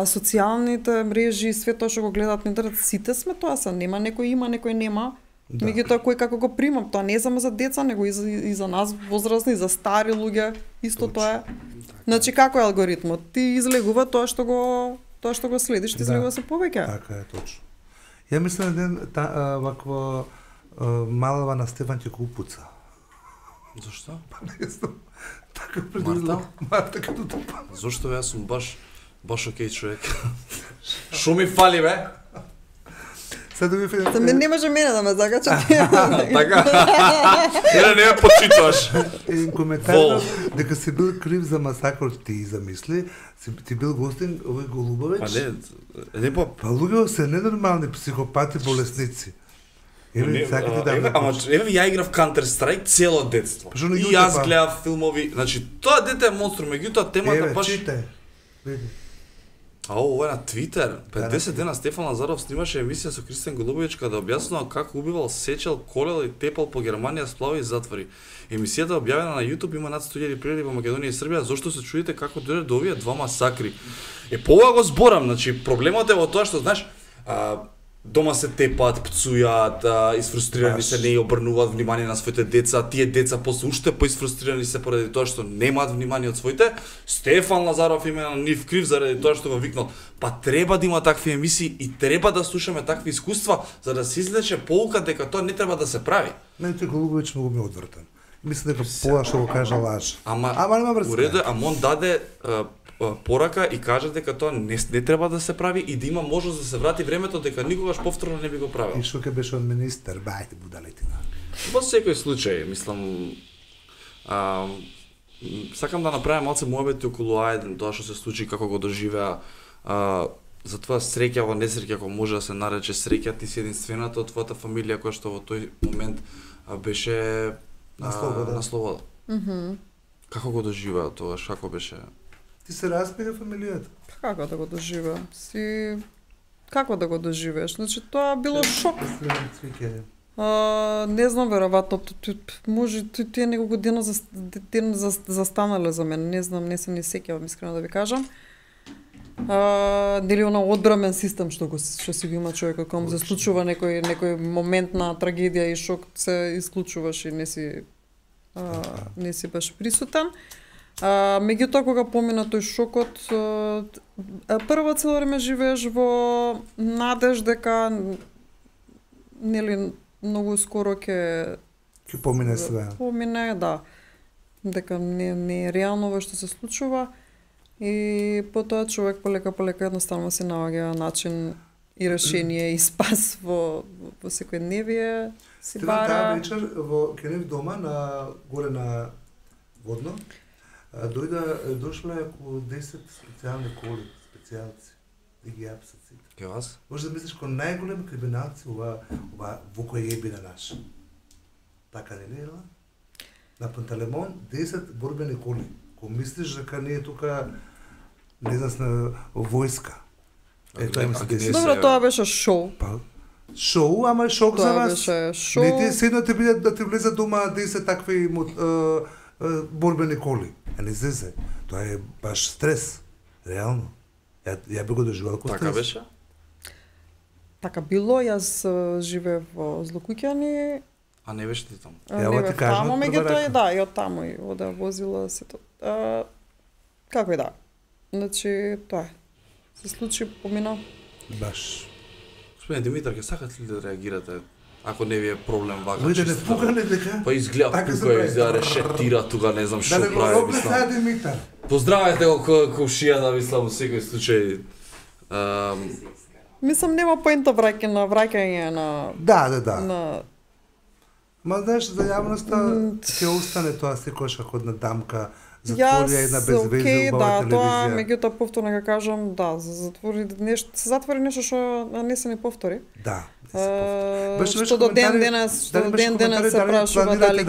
Социјалните мрежи, све тоа што го гледаат на интернет, сите сме тоа се, нема некој има, некој нема. Да. Меѓутоа кој како го примам, тоа не е само за деца, него и за нас возрастни, и за стари луѓе, исто тоа е. Значи како е алгоритмот? Ти излегува тоа што го следиш, ти излегува се повеќе. Така е точно. Ја мислам еден вакво малава на Стефан ќе го упуца. Зошто? Па не знам. Така предвидела. Марта като тупа. Зошто јас сум баш окей човек. Шо ми фали бе? Сега ви За мен не може мене да ме закача. Така. Не ме почитуваш. Един коментар дека си бил крив за масакор ти замисли, ти бил гостин овој Голубович. Па не по. Па луѓе се ненормални психопати, болесници. Еве ја играв Counter Strike цело детство. И јас гледав филмови, значи тоа дете е монстр, меѓутоа темата баш. Ова е на Твитер. 50 дена Стефан Лазаров снимаше емисија со Кристијан Голубович каде објаснува како убивал, сечел, колел и тепал по Германија, сплави и затвори. Емисијата објавена на YouTube има над 100.000 прегледи во Македонија и Србија. Зошто се чудите како дојде до овие два масакри? По ова го зборам, значи проблемот е во тоа што знаеш, дома се тепат, пцујат, изфрустрирани се, не обрнуваат внимание на своите деца, тие деца после уште поисфрустрирани се поради тоа што немаат внимание од своите. Стефан Лазаров име на нив крив заради тоа што го викнал. Па треба да има такви емисии и треба да слушаме такви искуства за да се излече поука дека тоа не треба да се прави. Мене тој Голубович многу ми одвртен. Мислам дека пола што го кажа лаж. Ама нема врска. Уреду, он даде порака и кажа дека тоа не треба да се прави и да има можност да се врати времето дека никогаш повторно не би го правил. И што ќе беше од министер, бајте будалетина. Во секој случај, мислам, сакам да направам малце муабети околу Ајден, тоа што се случи, како го доживеа, затоа среќа во несреќа, ако може да се нарече среќа, ти си единствената од твојата фамилија која што во тој момент беше на слобода. Како го доживеа тоа, како беше? Ти се распига фамилијата? Како да го доживеа? Како да го доживееш? Значи тоа било шок. Не знам, веројатно, може тие неколку дена застанале за мене, не знам, не се не сеќавам искрено да ви кажам. Дали она одбрамен систем што си го има човекот кога му се случува некој момент на трагедија и шок, се исклучуваш и не си баш присутен. Меѓутоа кога помина тој шокот, прво цело време живееш во надеж дека нели многу скоро ќе помине све. Помине, да. Дека не е реално ова што се случува и потоа човек полека едноставно се наоѓа начин и решение и спас во секојдневие си бара. Таа вечер во Кенев дома на горе на Водно дошле околу 10 специјални коли, специјалци, да ги апсат сите. Ке вас? Може да мислиш кој најголеми криминалци ова во кој е бина наш. Така не е, на Пантелеймон 10 борбени коли. Ко мислиш дека не е тука, не знам, војска. Добро, тоа беше шоу. Шоу, ама шок за вас. Тоа беше шоу. Не ти седно те бидат да ти влезат дома 10 такви борбени коли. Не зезе. Тоа е баш стрес. Реално. Ја би го доживал како стрес. Така беше? Така било, јас живеев во Злокуќани. А не беше ти таму? Ја ти кажам. Таму, меѓутоа да, и од таму и ода возила сето. Како и да. Значи, тоа е. Се случи, помина. Баш. Господине Димитар, ќе сакате ли да реагирате? Ако не ви е проблем вака. Виде не пукане дека. Па изгледа тука, изгледа решетира тука, не знам што прави. Да не го сега Димитар. Поздравете го комшијата, мислам, во секој случај. Мислам нема поента враќање на Да. Ма знаеш, за јавноста ќе остане тоа секојаш како една дамка, затвори една безвезе убава телевизија. Тоа меѓутоа повторно ќе кажам, се затвори нешто што не се не повтори. Да. Што до ден денес се прашува дали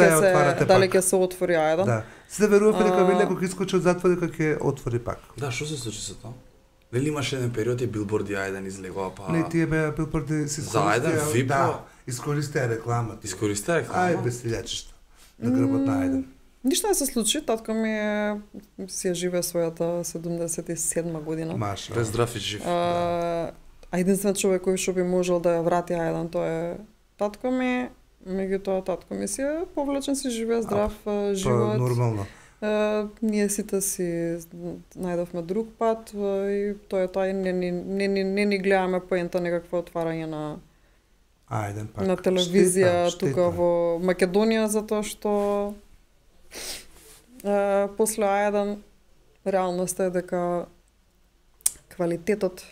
ќе се отвори А1. Да. Се верував дека Велјко ќе искочи од затвор дека ќе отвори пак. Да, што се случи со тоа? Нели имаше еден период и билборди А1 излегува па. Не, тие беа билборди се за А1 VIP. Да, искористија рекламата. Ај без силјачишта. На грбот на А1. Ништо не се случи, татко ми си живее својата 77 година. Маша. Без здрав и жив. А единствен човек кој што би можел да ја врати А1, тоа е татко ми. Меѓутоа татко ми си е повлечен, си живее здрав живот. Нормално. Ние сите си најдовме друг пат и тоа е тоа, не ни гледаме поента некакво отварање на пак. На телевизија тука во Македонија, затоа што после А1 реалноста е дека квалитетот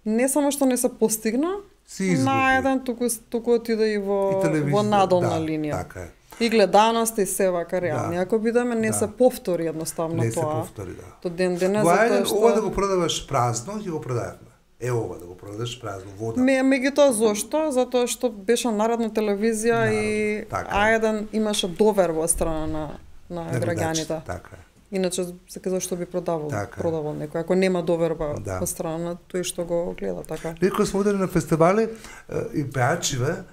не само што не се постигна на А1, туку отиде и во надолна линија. Така е. И гледаност и се вака реални. Ако бидеме не се повтори едноставно тоа. Не се повтори, да. До ден денес затоа што ова да го продаваш празно, ќе го продавме. Ова да го продадеш празно вода. Меѓутоа зошто? Затоа што беше народна телевизија и А1 имаше доверба од страна на граѓаните. Така е. Иначе се зашто би продавал некој, ако нема доверба од страна на тој што го гледа, така. Некој сме одели на фестивали и пеачиве,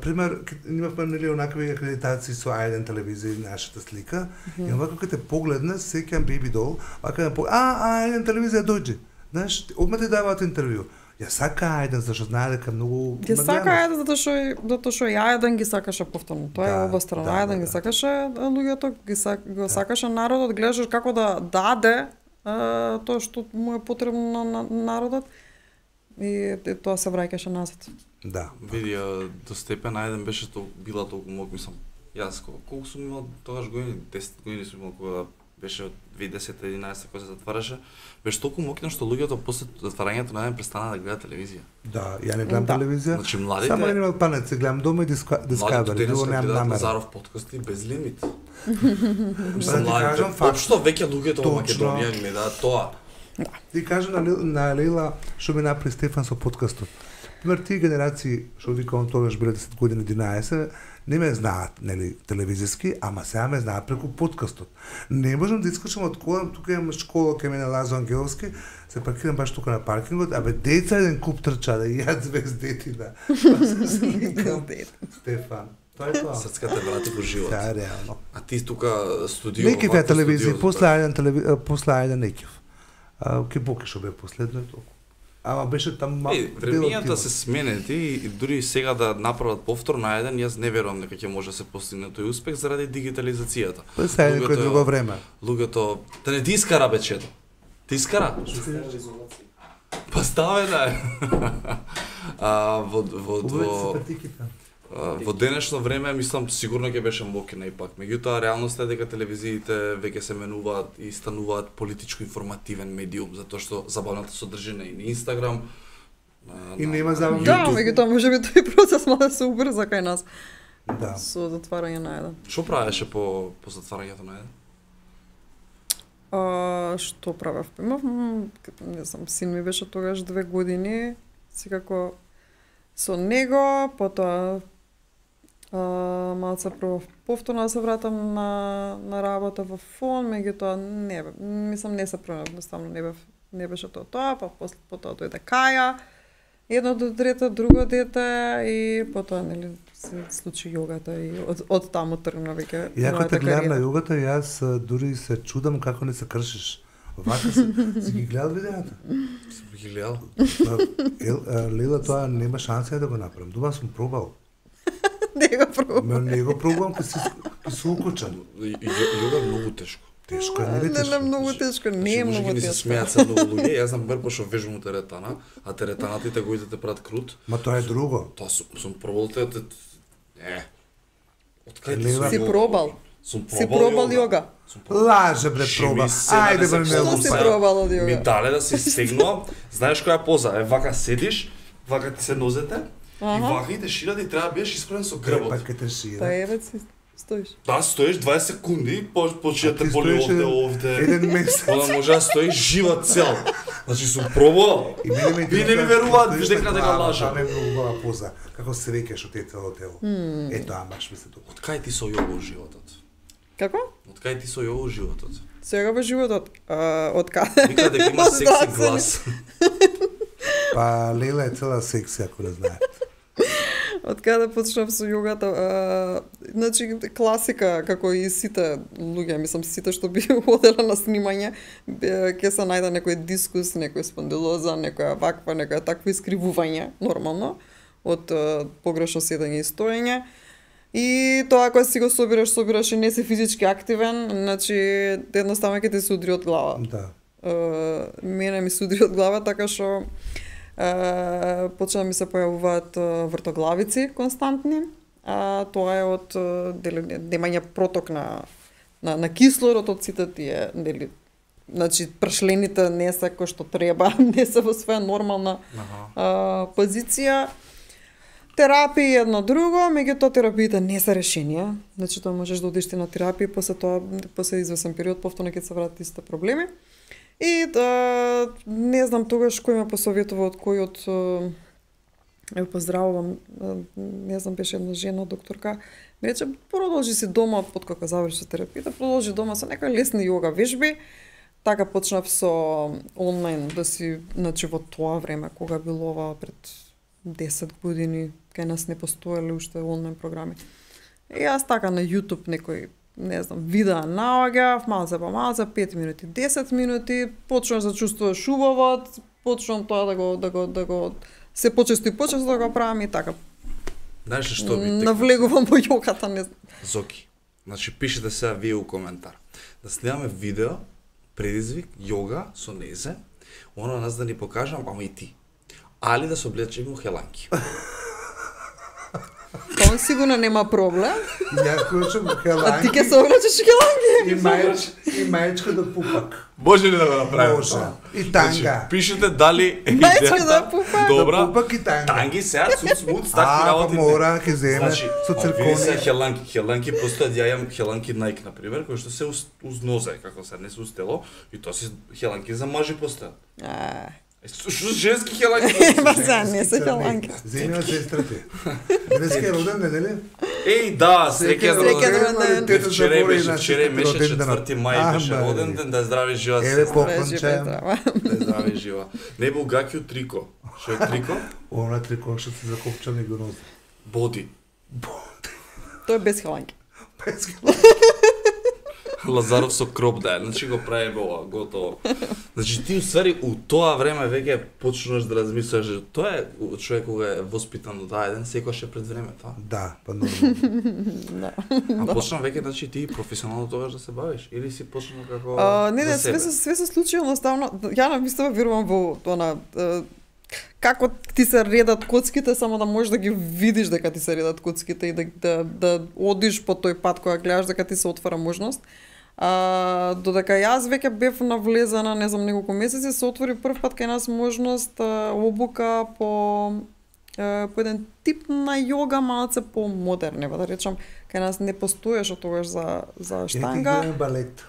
пример, имавме нели онакви акредитации со А1 телевизија и нашата слика, и овако кога те погледна, сеќам Baby Doll, вака А1 телевизија дојде. Знаеш, одма ти даваат интервју. Ја сака А1 зашто знае дека многу Ја сака А1 затоа што и А1 ги сакаше повторно. Тоа е обострано. А1 ги сакаше луѓето, го сакаше народот, гледаш како да даде тоа што му е потребно на народот и тоа се враќаше назад. Да. Види, до степен А1 беше била толку мок, мислам. Јас колку сум имал тогаш години, 10 години сум имал кога беше од 2010-11 кога се затвараше, беше толку мокна што луѓето после затварањето на А1 престана да гледа телевизија. Да, ја не гледам телевизија. Значи младите само Animal Planet се гледам дома и Discovery, друго немам намера. Назаров подкасти без лимит. Мислам, општо веќе луѓето во Македонија гледаат тоа. Ти кажа на Лейла што ми направи Стефан со подкастот. Пример, тие генерации што викам тогаш биле 10 години 11, не ме знаат, нели, телевизиски, ама сега ме знаат преку подкастот. Не можам да искочам од кола, тука имам школа кај мене Лазо Ангеловски, се паркирам баш тука на паркингот, абе деца еден куп трча да јад звездетина. Стефан. Тоа е тоа. Срцката врати во живот. Да, реално. А ти тука студио. Некив е телевизија, после Ајден некив. Ке Бокешо бе последно и толку. Ама беше таму времењата се сменети и дури сега да направат повтор на еден, јас не верувам дека ќе може да се постигне тој успех заради дигитализацијата. Па сега е некој друго време. Луѓето да не ти искара бечето. Ти искара? Па ставе да. Во денешно време, мислам, сигурно ќе беше мокина ипак. Меѓутоа, реалноста е дека телевизиите веќе се менуваат и стануваат политичко-информативен медиум, затоа што забавната содржина и на Инстаграм, и нема забавно. Да, меѓутоа можеби тој процес мора да се убрза кај нас. Да. Со затварање на еден. Што правеше по затварањето на еден? Што правев? Имав, не знам, син ми беше тогаш 2 години, секако со него, потоа малце прво повторно да се вратам на работа во фон, меѓутоа не се пронав, едноставно не беше тоа, па потоа дојде Каја, едно дете, друго дете и потоа нели се случи јогата и од таму тргна веќе. Иако те гледам на јогата, јас дури се чудам како не се кршиш. Вака си ги гледал видеата? Сум ги гледал. Лила, тоа нема шанса да го направам. Дома сум пробал. Не го пробам. Не го пробам, ке се укочам. Јога е многу тешко. Тешко е, нели тешко? Не, многу тешко, не е многу тешко. Се смеат се многу луѓе, јас знам бербо што вежувам теретана, а теретаната и тегоите прат крут. Ма тоа е друго. Тоа сум пробал те. Од кај си пробал? Сум Си пробал јога? Лаже бре проба. Ајде бре не Што си пробал од јога? Ми дале да се стегнувам. Знаеш која поза? Вака седиш, вака ти се нозете и вака и те шират и треба да биеш исправен со грбот. Па ке те шира. Па еве си стоиш. Да, стоиш 20 секунди, почне те боли овде. Еден месец. Она може да стои жива цел. Значи сум пробал. И мене Ви не ми веруваат, виж дека дека лажам. Тоа не е многу убава поза. Како се веќаш од цело тело. Ето, баш ми се тоа. Од кај ти со јога животот? Како? Од кај ти со јога животот? Сега во животот, од каде? Вика дека има секси глас. Па Лела е цела секси, ако не знаете. Од каде почнав со јогата? Значи, класика, како и сите луѓе, мислам, сите што би одела на снимање, ќе се најде некој дискус, некој спондилоза, некоја ваква, некоја таква искривување, нормално, од погрешно седење и стоење. И тоа кога си го собираш и не си физички активен, значи едноставно ќе ти се удри од глава. Да. Мене ми се удри од глава, така што почна да ми се појавуваат вртоглавици константни. Тоа е од немање проток на кислород од сите тие, нели, значи прашлените не се кој што треба, не се во своја нормална позиција. Терапија едно друго, меѓутоа терапиите не се решенија. Значи тоа можеш да одиш на терапија, после извесен период повторно ќе се вратат истите проблеми. И не знам тогаш кој ме посоветува од кој од поздравувам, не знам, беше една жена докторка, ми рече продолжи си дома под кога заврши терапијата, продолжи дома со некои лесни јога вежби. Така почнав со онлайн да си, значи во тоа време кога било ова пред 10 години, кај нас не постоеле уште онлайн програми. И јас така на YouTube некој, не знам, видеа наоѓав, малце по малце, 5 минути, 10 минути, почнуваш да чувствуваш убаво, почнувам тоа да го се почесто и почесто да го правам и така. Знаеш што би навлегувам во јогата, не знам. Зоки, значи пишете сега вие у коментар. Да снимаме видео, предизвик, јога со незе, оно нас да ни покажам, ама и ти. Али да се облечеме у хеланки. Он сигурно нема проблем. Ја клучам хеланки. А ти ќе се облечеш у хеланки? И мајчка да пупак. Може ли да го направиме? Може. И танга. Пишете дали мајчка да пупак. Добра. Да пупак и танга. Танги сега цуц такви работи. Мора ќе земе со циркони. Се хеланки постојат, ја имам хеланки Nike на пример, кои што се уз нозе, како се не се уз тело, и тоа се хеланки за мажи постојат. Што женски хеланки? Ма за не се хеланки. Земја сестрите. Денеска е роден ден, нели? Еј, да, среќен роден ден. Вчера беше 4 мај, беше роден ден, да здрави жива сестра. Еве поклонче. Да здрави жива. Не бил гаки од трико. Што е трико? Она трико што се закопча него нозе. Боди. Тоа е без хеланки. Без хеланки. Лазаров со кроп да е, значи го прави ова, готово. Значи ти усвари у тоа време веќе почнуваш да размислуваш, тоа е човек кога е воспитан до таа ден, секогаш е пред време тоа. Да, па нормално. А почна веќе, значи ти професионално тогаш да се бавиш или си почнал како не, све се случи едноставно. Ја навистина верувам во она како ти се редат коцките, само да можеш да ги видиш дека ти се редат коцките и да одиш по тој пат кога гледаш дека ти се отвара можност. Додека јас веќе бев навлезена, не знам, неколку месеци, се отвори прв пат кај нас можност обука по еден тип на јога, малце по-модерне, да речам, кај нас не постоеше тогаш за штанга. Ја балет.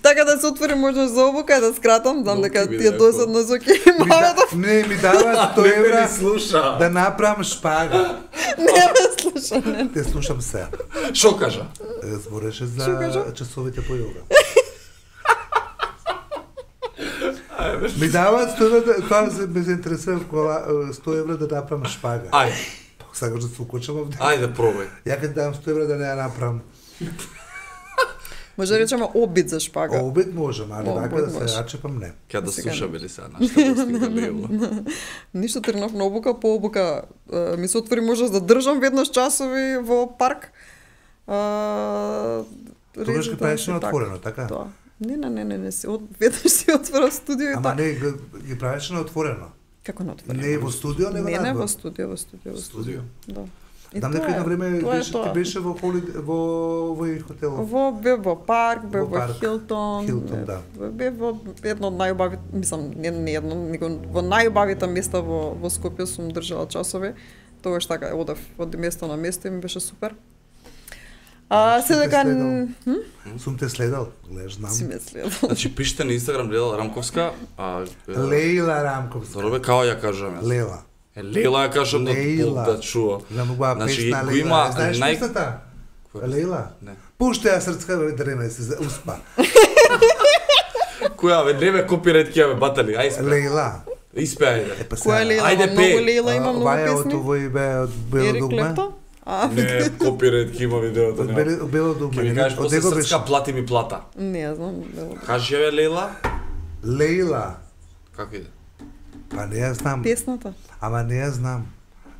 Така да се отвори можност за обука, да скратам, знам дека ти е досадно Зоки. Не ми дава 100 евра да направам шпага. Не ме слуша, не. Те слушам се. Шо кажа? Збореше за часовите по јога. Ми даваат 100 евра, тоа ме заинтересува 100 евра да направам шпага. Ајде. Сакаш да се укочам овде? Ајде, пробај. Ја ќе дам 100 евра да не ја направам. Може да речеме обид за шпага. Обид можем, али вака да се рачепам не. Ке да слушаме ли сега нашата гостинка Лејла? Ништо тренав на обука, по обука ми се отвори можност да држам веднаш часови во парк. Тогаш ги правиш на отворено, така? Тоа. Не, веднаш си отвора студио и така. Ама не, ги правиш на отворено. Како на отворено? Не во студио, него не во студио. Студио? Да. Знам дека едно време ти беше во овој хотел. Во парк, во Хилтон. Хилтон, да. Бев во едно од најубавите, мислам, не едно, него во најубавите места во Скопје сум држала часови. Тогаш така одев од место на место и ми беше супер. Се дека сум те следал, гледаш, знам. Си ме следал. Значи пишете на Инстаграм Лела Рамковска, Лейла Рамковска. Добре, како ја кажам јас? Лела. Лела ја кажам да чува. Значи го има знаеш песната? Лейла? Не. Пуште ја срцка бе дреме се успа. Која бе, не ме копирајт ќе бе батали, ајде. Лейла. Испе ајде. Која Лейла? Ајде Многу Лейла има многу Ваја од песни. овој бе од Бело дугме. Не, копирајт ќе има видеото. Од Бело дугме. Ќе ми кажеш после него срцка плати ми плата. Не знам. Кажи ја Лейла? Лейла. Како иде? Па не ја знам. Песната. Ама не ја знам.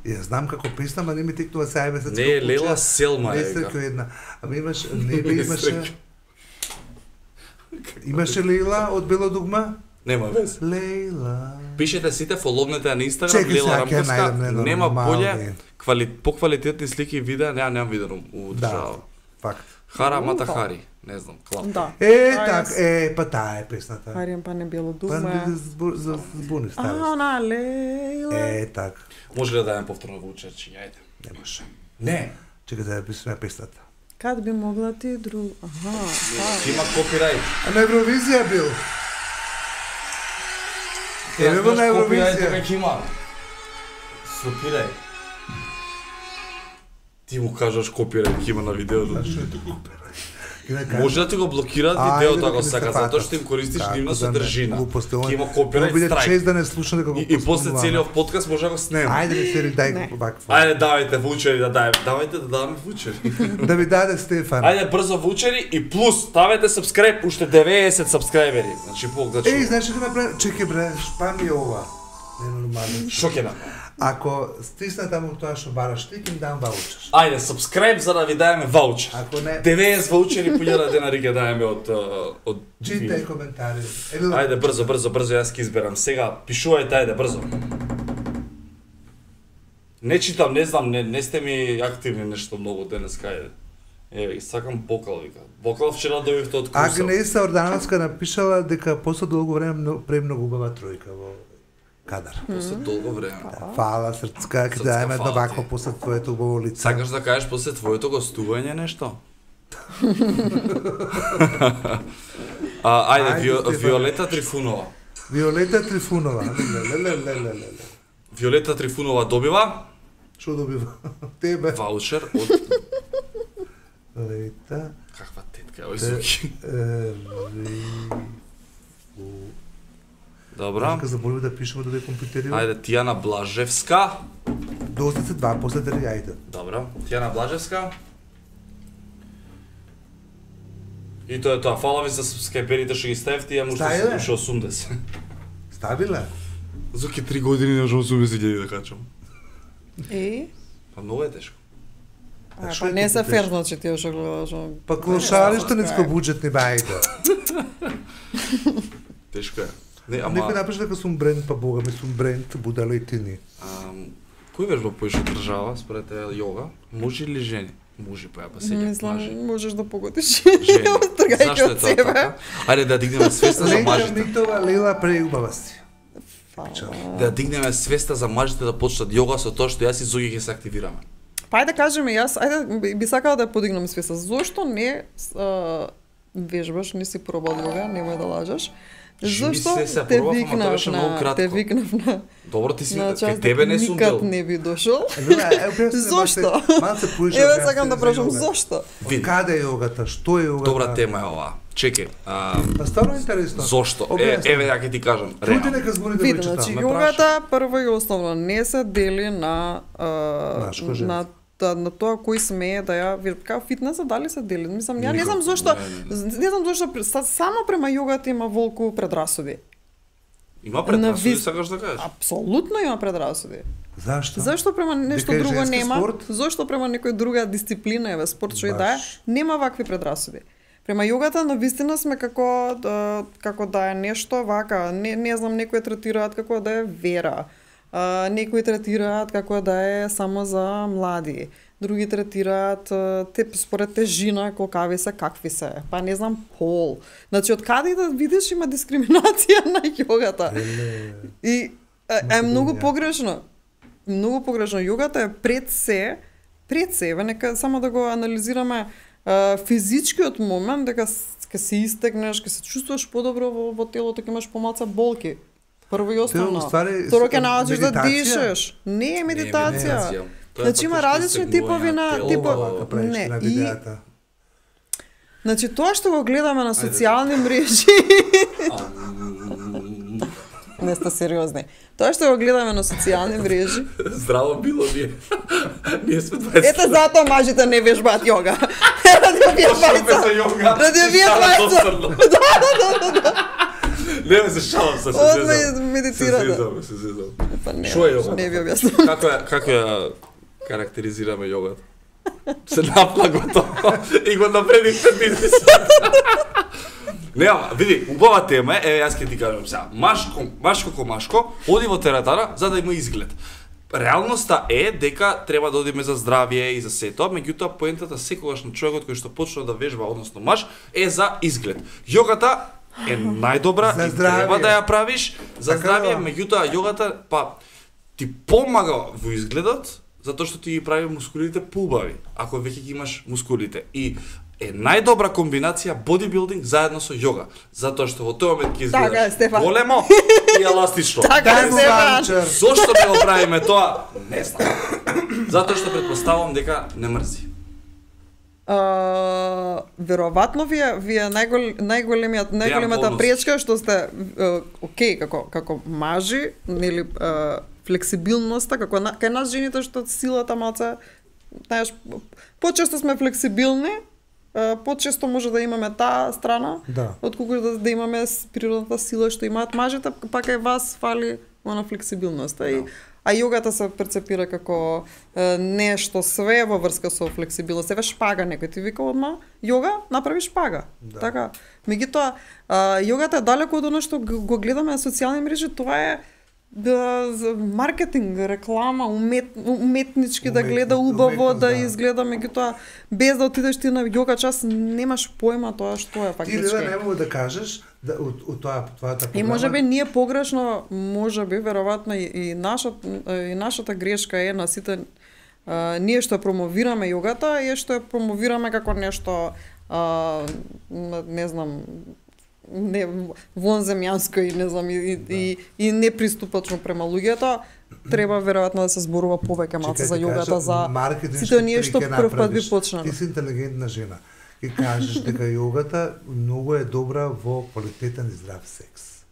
Ја знам како песна, ама не ми текнува сега месец. Не, Лейла Селма е. Несреќа една. Ама имаш, имаше. Имаше Лейла од Бело дугма? Нема вез. Лейла. Пишете сите, фоловнете на Инстаграм Лейла Рамковска. Нема боле, поквалитетни слики и видеа, немам видено у држава. Факт. Хара Мата Хари, не знам, клап. Да. Па таа е песната. Харијам па не Бело Па дугме. за збуни ставиш. На Лейла. Так. Може ли да дадем повторно во учерчи, ајде? Не може. Не. Чекай да ја пишеме песната. Кад би могла ти друг... Ќе има копирајт. А на Евровизија бил. Еве во на Евровизија. Копирајт ќе има. Сопирај. Ти му кажаш копирајт ќе има на видеото. Што е тоа копирајт? Може да ти го блокираат видеото ако сакаш, затоа што им користиш нивна содржина. Ќе има копирајт страйк. Чест да не слушам дека го И после целиот подкаст може да го снема. Ајде ми сери дај го вакво. Ајде давајте вучери да дајме. Давајте да даваме вучери. Да ми даде Стефан. Ајде брзо вучери и плюс ставете сабскрајб, уште 90 сабскрајбери. Значи Бог да чува. Знаеш што направи? Чекај бре, шпам е ова. Не нормално. Шо ќе направи? Ако стисна таму тоа што бараш ти, ќе им дам ваучер. Ајде, сабскрајб за да ви даеме ваучер. Ако не, 90 ваучери по 1000 денари ќе даеме од читај коментари. Ајде брзо, јас ќе изберам. Сега пишувајте, ајде брзо. Не читам, не знам, не сте ми активни нешто многу денеска, ајде. Еве, сакам бокал, вика. Бокал вчера дојдовте од курсот. Агнеса Ордановска напишала дека после долго време премногу убава тројка во кадар. После долго време. Фала срцка, ќе даеме едно вакво после твоето убаво лице. Сакаш да кажеш после твоето гостување нешто? Ајде, Виолета Трифунова. Виолета Трифунова. Виолета Трифунова добива? Што добива? Тебе. Ваучер од... Лета. Каква тетка, ој звуки. Добра. Дека забориме да пишеме да компјутериме. Ајде, Тијана Блажевска. Доста се два, после да ајде. Добра. Тијана Блажевска. И тоа е тоа. Фала ви за скајперите што ги ставите, ја може да се 80. Ставила? Зоки 3 години не можам 80.000 да качам. Па многу е тешко. Па не се фер, значи ти што гледаш. Па клошариште ниско буџетни бајде. Тешко е. Не, ама... Некој напиша дека сум бренд, па бога ми сум бренд, будала и ти ни. Кој вежба поише држава, според јога, мужи или жени? Мужи, па ја па сеќа. Мислам, можеш да погодиш. Жени. Тргајќи Зашто е од тоа себе. така? Ајде да дигнеме свеста за мажите. Ленка Митова, Лела преубава си. Да дигнеме свеста за мажите да почнат јога со тоа што јас и Зоги ќе се активираме. Па ајде кажеме јас, ајде би сакала да ја подигнам свеста. Зошто не вежбаш, не си пробал јога, немој да лажеш. Зошто те викнав на Добро, ти си кај тебе не сум никад дел. не би дошол. Зошто? Еве сакам да прашам зошто. Каде е јогата? Што е јогата? Добра тема е оваа. Чекај. Па стварно интересно. Зошто? Еве ја ќе ти кажам. Чујте нека збори да Види, го значи читам. јогата прво и основно не се дели на на тоа кој смее да ја како фитнесот дали се дели. Мислам, ја не знам зошто само према јогата има волку предрасуди. Има предрасуди, сакаш да кажеш? Апсолутно има предрасуди. Зашто? Зашто према нешто Дека е друго женски нема? спорт? Зошто према некој друга дисциплина, еве спорт што и да е, нема вакви предрасуди. Према јогата навистина сме како да е нешто вака, не знам, некои третираат како да е вера. Некои третираат како да е само за млади. Други третираат те според тежина, колкави се, какви се. Па не знам, пол. Значи, од каде да видиш има дискриминација на јогата. И е многу погрешно. Многу погрешно. Јогата е пред се, нека само да го анализираме физичкиот момент, дека ќе се истегнеш, ќе се чувствуваш подобро во телото, ќе имаш помалку болки. Прво и основно. Второ ќе научиш да дишеш. Не е медитација. Значи има различни типови на не. Значи тоа што го гледаме на социјални мрежи. Не сте сериозни. Тоа што го гледаме на социјални мрежи. Здраво било ние. Ние сме 20. Ете затоа мажите не вежбаат јога. Ради овие двајца. Не ме се шалам се зезам. Медитирате. Се зезам. Шо е јога? Не ви објаснувам. Како ја карактеризираме јогата? Се напла готово и го напредивте бизнисот. Не, види, убава тема е, јас ќе ти кажам сега, машко, оди во тератара за да има изглед. Реалноста е дека треба да одиме за здравје и за сето, меѓутоа поентата секогаш на човекот кој што почнува да вежба, односно маж, е за изглед. Јогата е најдобра и треба да ја правиш за здравје, меѓутоа јогата ти помага во изгледот, затоа што ти ги прави мускулите поубави, ако веќе ги имаш мускулите. И е најдобра комбинација бодибилдинг заедно со јога, затоа што во тој момент ќе изгледаш големо и еластично. Зошто не го правиме тоа? Не знам. Затоа што претпоставувам дека не мрзи. Веројатно вие најголемата пречка што сте окей како мажи, нели флексибилноста, како кај нас жените што силата малце, знаеш, почесто сме флексибилни, почесто може да имаме таа страна, отколку да имаме природната сила што имаат мажите, пак кај вас фали она флексибилноста. А јогата се перцепира како нешто све во врска со флексибилност. Еве шпага, некој ти вика одма, јога, направи шпага. Така. Меѓутоа, јогата е далеку од она што го гледаме на социјални мрежи, тоа е маркетинг, реклама, уметнички да гледа убаво, да изгледа, меѓутоа без да отидеш ти на јога час немаш појма тоа што е фактички. Ти не можеш да кажеш од твојата програма. И можеби ние погрешно, можеби веројатно и нашата грешка е на сите ние што промовираме јогата е што ја промовираме како нешто не знам не вонземјанско и не знам и неприступачно према луѓето, треба веројатно да се зборува повеќе малце за јогата, за сите оние што прв пат би почнали. Ти си интелигентна жена и кажеш дека јогата многу е добра во квалитетен и здрав секс.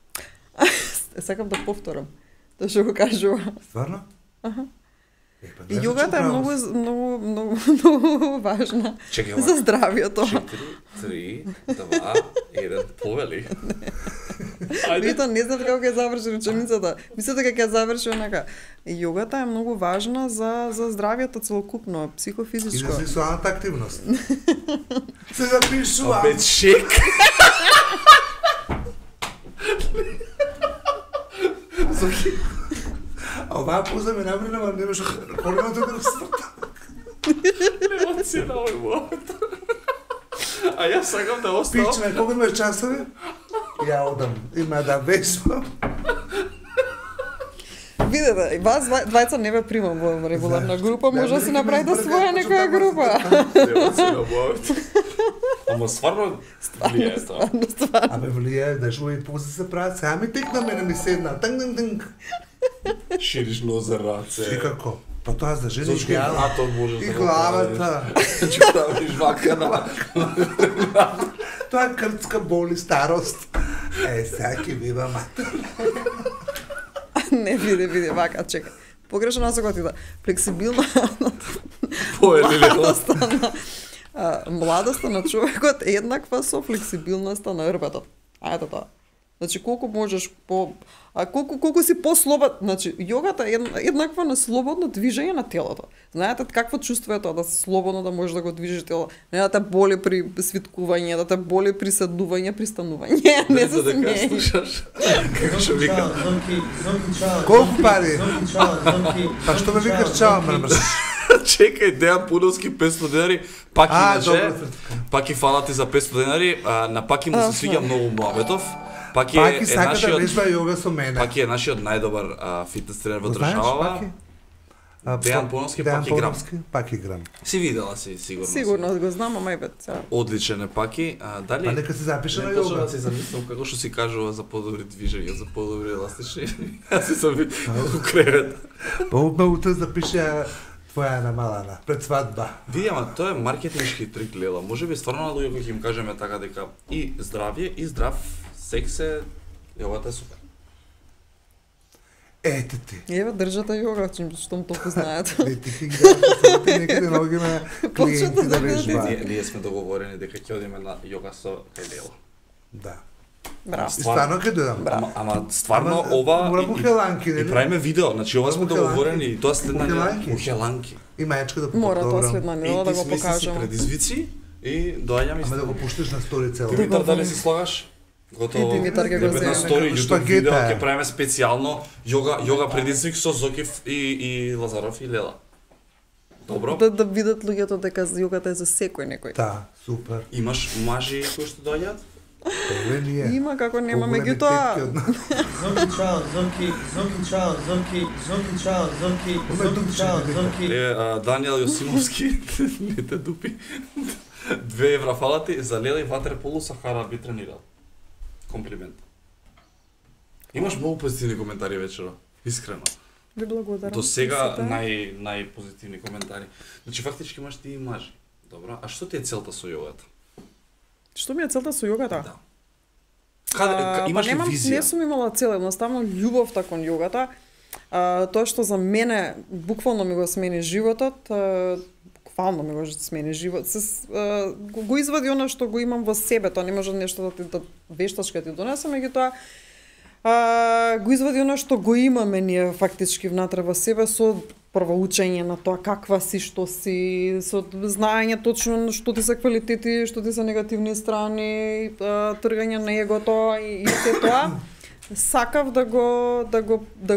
Сакам да повторам тоа што го кажува. Стварно? Аха. И јогата е многу важна за здравјето. 4, 3, 2, 1, повели. Вито, не знам како ќе заврши реченицата. Мислам дека ќе заврши онака. Јогата е многу важна за здравјето целокупно, психофизичко. И за сексуалната активност. Се запишува. Опет шек. А оваа поза ме набрина, ама немаш колено тука да старта. Нема си на овој момент. А јас сакам да оставам. Пичме, кога имаш часови? Ја одам. Има да веспам. Видете, вас двајца не ве примам во регуларна група, може да си направите своја некоја група. Нема си на момент. Ама стварно влијае тоа. Абе влијае, да жуи пози се прават, сега ми текна мене ми седна. Танг. Шириш нозе раце. И како? Па тоа за жени идеално. Атом можеш да и главата. Че правиш вака на... Тоа крцка боли старост. Сега ќе бива матер. Не, види, вака, чека. Погрешно насока ти да. Флексибилна... Младоста на човекот е еднаква со флексибилноста на рбетот. А ето тоа. Значи колку можеш колку си послободен, значи јогата е еднаква на слободно движење на телото. Знаете какво чувство е тоа да слободно да можеш да го движиш тело, не да те боли при свиткување, да те боли при седнување, при станување, не се смееш. Како што вика? Колку пари? Па што ме викаш чао, мрмрш? Чекај, Дејан Пуновски 500 денари, пак имаше, пак и фала ти за 500 денари, на пак му се свиѓа многу муабетов. Пак и сака да вежба јога со мене. Пак е нашиот најдобар фитнес тренер во државава. Дејан Пуновски, пак и грам. Си видела си, сигурно. Сигурно го знам, ама одличен е паки. Дали? Па нека се запише на јога. Не почна да си замислам како што си кажува за подобри движења, за подобри еластични. Јас си сам во кревет. Па ме утре запише твоја намалана пред свадба. Види, ама тоа е маркетиншки трик, Лела. Можеби стварно на луѓе кои ќе им кажеме така дека и здравје и здрав секс е јогата е супер. Ете ти. Еве држата јога, што ме толку знаат. Не ти ги дадат некаде ногиме клиенти да вежба. Ние сме договорени дека ќе одиме на јога со кај Лела. Да. Браво. Стварно ќе дојдам. Ама стварно ова мора по хеланки, и правиме видео, значи ова сме договорени и тоа следна по хеланки. И мајачка да мора тоа следна недела да го покажам. И ти предизвици и доаѓам и ама да го пуштиш на стори цело. Димитар, дали си слагаш? Готово. Димитар ќе го земе. На стори YouTube видео ќе правиме специјално јога предизвик со Зокив и Лазаров и Лела. Добро? Да видат луѓето дека јогата е за секој некој. Да, супер. Имаш мажи кои што доаѓаат? Има како нема, меѓутоа. Даниел Јосимовски не те дупи. 2 евра фала ти за Лела и ватерполо Сахара би тренирал. Комплимент. Имаш многу позитивни коментари вечера, искрено. Ви благодарам. До сега најпозитивни коментари. Значи фактички имаш ти и мажи. Добро, а што ти е целта со јогата? Што ми е целта со јогата? Да. Имаш ли визија? Не сум имала цел, едноставно љубовта кон јогата. Тоа што за мене буквално ми го смени животот, буквално ми го смени живот. Го извади она што го имам во себе, тоа не може нешто да вештачка ти донесе, меѓутоа го извади она што го имаме ние фактички внатре во себе со прво учење на тоа каква си, што си, со знаење точно што ти се квалитети, што ти се негативни страни, тргање на егото и се тоа. Сакав да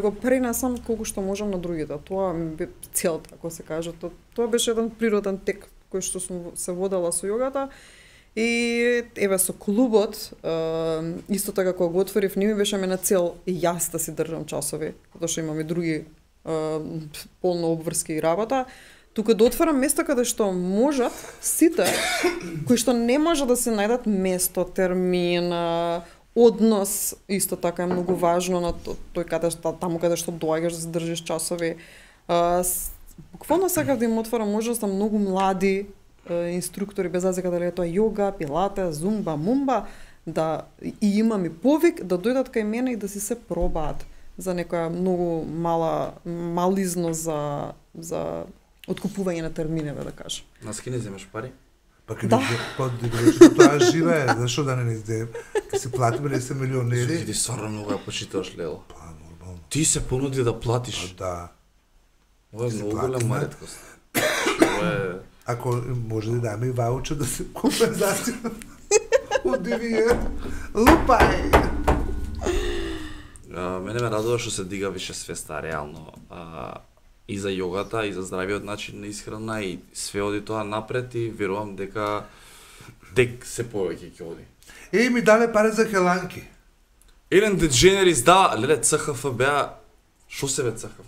го пренесам колку што можам на другите. Тоа ми бе целта, ако се каже. Тоа беше еден природен тек кој што сум се водела со јогата. И еве со клубот, исто така кога го отворив, не ми беше мене цел и јас да си држам часови, затоа што имам и други полно обврски и работа, тука да отворам место каде што можат сите кои што не може да се најдат место, термин, однос, исто така е многу важно на тој таму каде што доаѓаш да се држиш часови. Буквално сакав да им отворам можност на многу млади инструктори, без разлика дали е тоа јога, пилате, зумба, мумба, да и имам и повик да дојдат кај мене и да си се пробаат за некоја многу мализно за откупување на терминеве, да кажам. Нас ки не земаш пари? Па каде тоа живее, зашо да не изде? Ке се платиме да се милионери. Ти стварно многу ја почиташ, Лело. Па нормално. Ти се понуди да платиш. Да. Ова е многу голема реткост. Ако може да даме и ваучер да се компензација од дивије. Лупај! Мене ме радува што се дига више свеста, реално. И за јогата, и за здравиот начин на исхрана, и све оди тоа напред и верувам дека тек се повеќе ќе оди. Ми дале пари за хеланки. Елен Дедженерис, да, леле, ЦХФ беа... Шо се бе ЦХФ?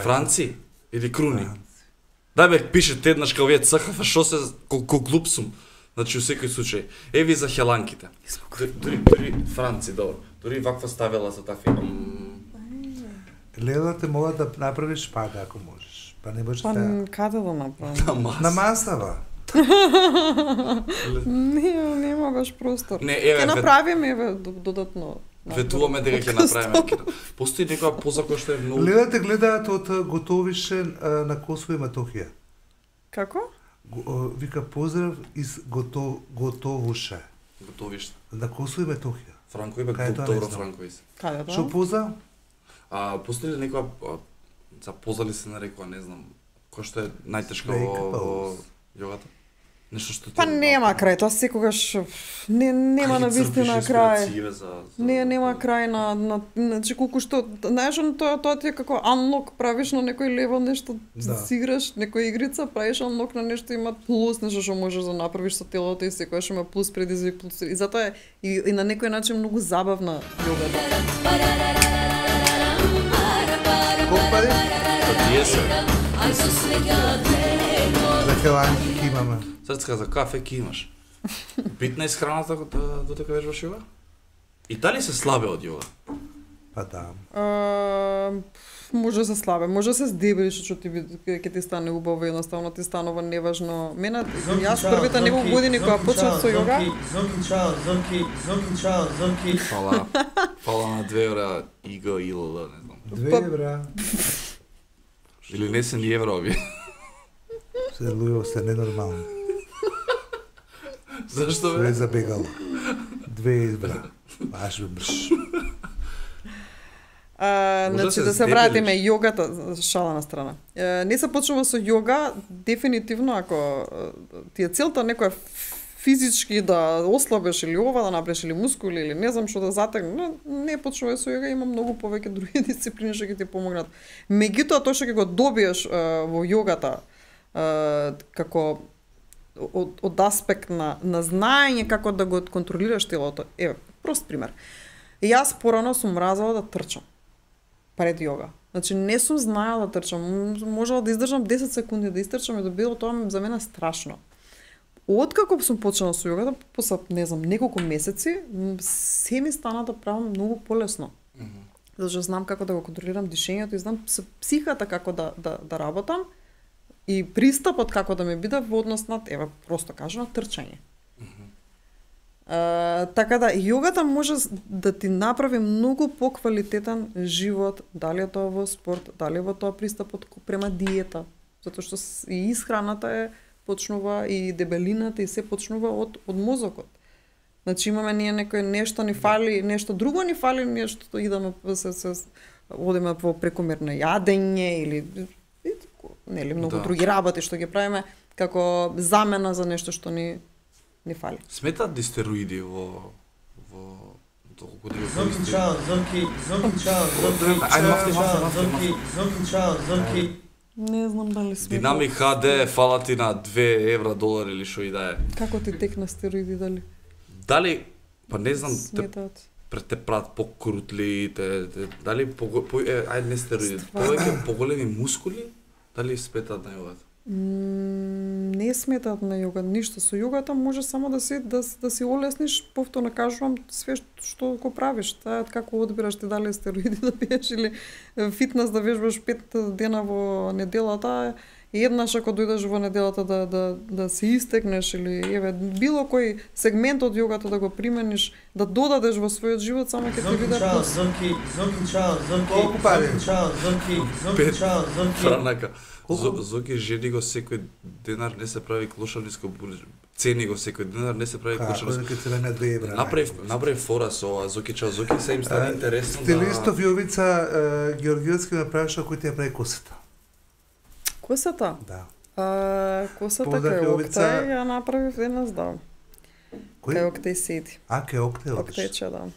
Франци? Или Круни? Да бе, пишете еднаш као вие ЦХФ, шо се... Колко глуп сум. Значи, у секој случај. Еви за хеланките. Дори Франци, добро. Дори ваква ставила за тафи. Лела те мола да направиш пада, ако можеш. Па не може да... Каде да направам? На масава. Нема баш простор. Ке направиме, еве, додатно. Ветуваме дека ќе направиме. Постои некоја поза која што е многу... Лела те гледаат од готовише на Косово и Матохија. Како? Вика поздрав из Готовуше. Готовиште. На Косово и Метохија. Франко и добро Франко исе. Каде тоа? Што поза? Постои ли некоја за позали се нарекува, не знам, кој што е најтешко во јогата? Нешто што Па нема крај, тоа секогаш нема на вистина крај. Нема крај на значи колку што, знаеш, тоа ти е како unlock, правиш на некој левел нешто, си играш некоја игрица, правиш unlock на нешто, има плюс нешто што можеш да направиш со телото и секогаш има плюс предизвик, плюс. И затоа е и на некој начин многу забавна јогата. Колку пари? Тие се. За хеланки ки имаме. Срцка за кафе ки имаш. Битна исхраната додека вежбаш јога? И дали се слабе од јога? Па да. Може да се слабе, може да се здебелиш, што ќе ти стане убаво, едноставно ти станува неважно. Мене, јас првите неколку години кога почнав со јога... Фала на 2 евра ИГ, ИЛЛ, не знам. 2 евра. Или не се ни евра овие. Се луѓе се ненормални. Зашто бе? Све забегало. 2 евра. Баш бе мрш. Значи да се вратиме јогата, шала на страна. Не се почнува со јога, дефинитивно ако ти е целта некоја физички да ослабеш или ова да направиш или мускули или не знам што да затегне, не почнувај со јога, има многу повеќе други дисциплини што ќе ти помогнат. Меѓутоа тоа што ќе го добиеш во јогата како од аспект на знаење како да го контролираш телото. Еве, прост пример. Јас порано сум мразела да трчам пред јога. Значи не сум знаела да трчам, можела да издржам 10 секунди да истрчам и да било тоа за мене страшно. Откако сум почнала со јогата, после не знам неколку месеци, се ми стана да правам многу полесно. Зашто знам како да го контролирам дишењето и знам психата како да работам и пристапот како да ми биде во однос на, еве, просто кажано, трчање. Така да, јогата може да ти направи многу поквалитетен живот, дали е тоа во спорт, дали е во тоа пристапот према диета, затоа што и исхраната е почнува и дебелината и се почнува од мозокот. Значи имаме ние некој нешто ни фали, нешто друго ни фали, нешто идеме одиме во прекомерно јадење или нели многу други работи што ги правиме како замена за нешто што ни фали. Сметаат ли стероиди во толку да Не знам дали сметаат. Динамик HD фала ти на 2 евра, долар или што и да е. Како ти текна стероиди дали? Дали, па не знам, сметаат. Те прават покрутли, дали ајде не стероиди, повеќе поголеми мускули, дали сметаат на јогата? Не сметаат на јога, ништо. Со јогата може само да си олесниш, повторно кажувам, све што го правиш. Таа како одбираш ти дали стероиди да пиеш или фитнес да вежбаш 5 дена во неделата, еднаш ако дојдеш во неделата да се истекнеш или еве било кој сегмент од јогата да го примениш, да додадеш во својот живот, само ќе ти биде плюс. Колку пари? Франака. Зоки жени го секој денар, не се прави клошарниско булџ. Цени го секој денар, не се прави клошарниско. Како цена на 2 евра. Направи фора со ова Зоки чао Зоки, се им стане интересно да... Стилистов Јовица Георгиевски ме праша кој ти ја прави косата. Косата? Да. Косата кај Октај ја направив еднаш, да. Кај Октај седи. Кај Октај одиш? Октајче, да.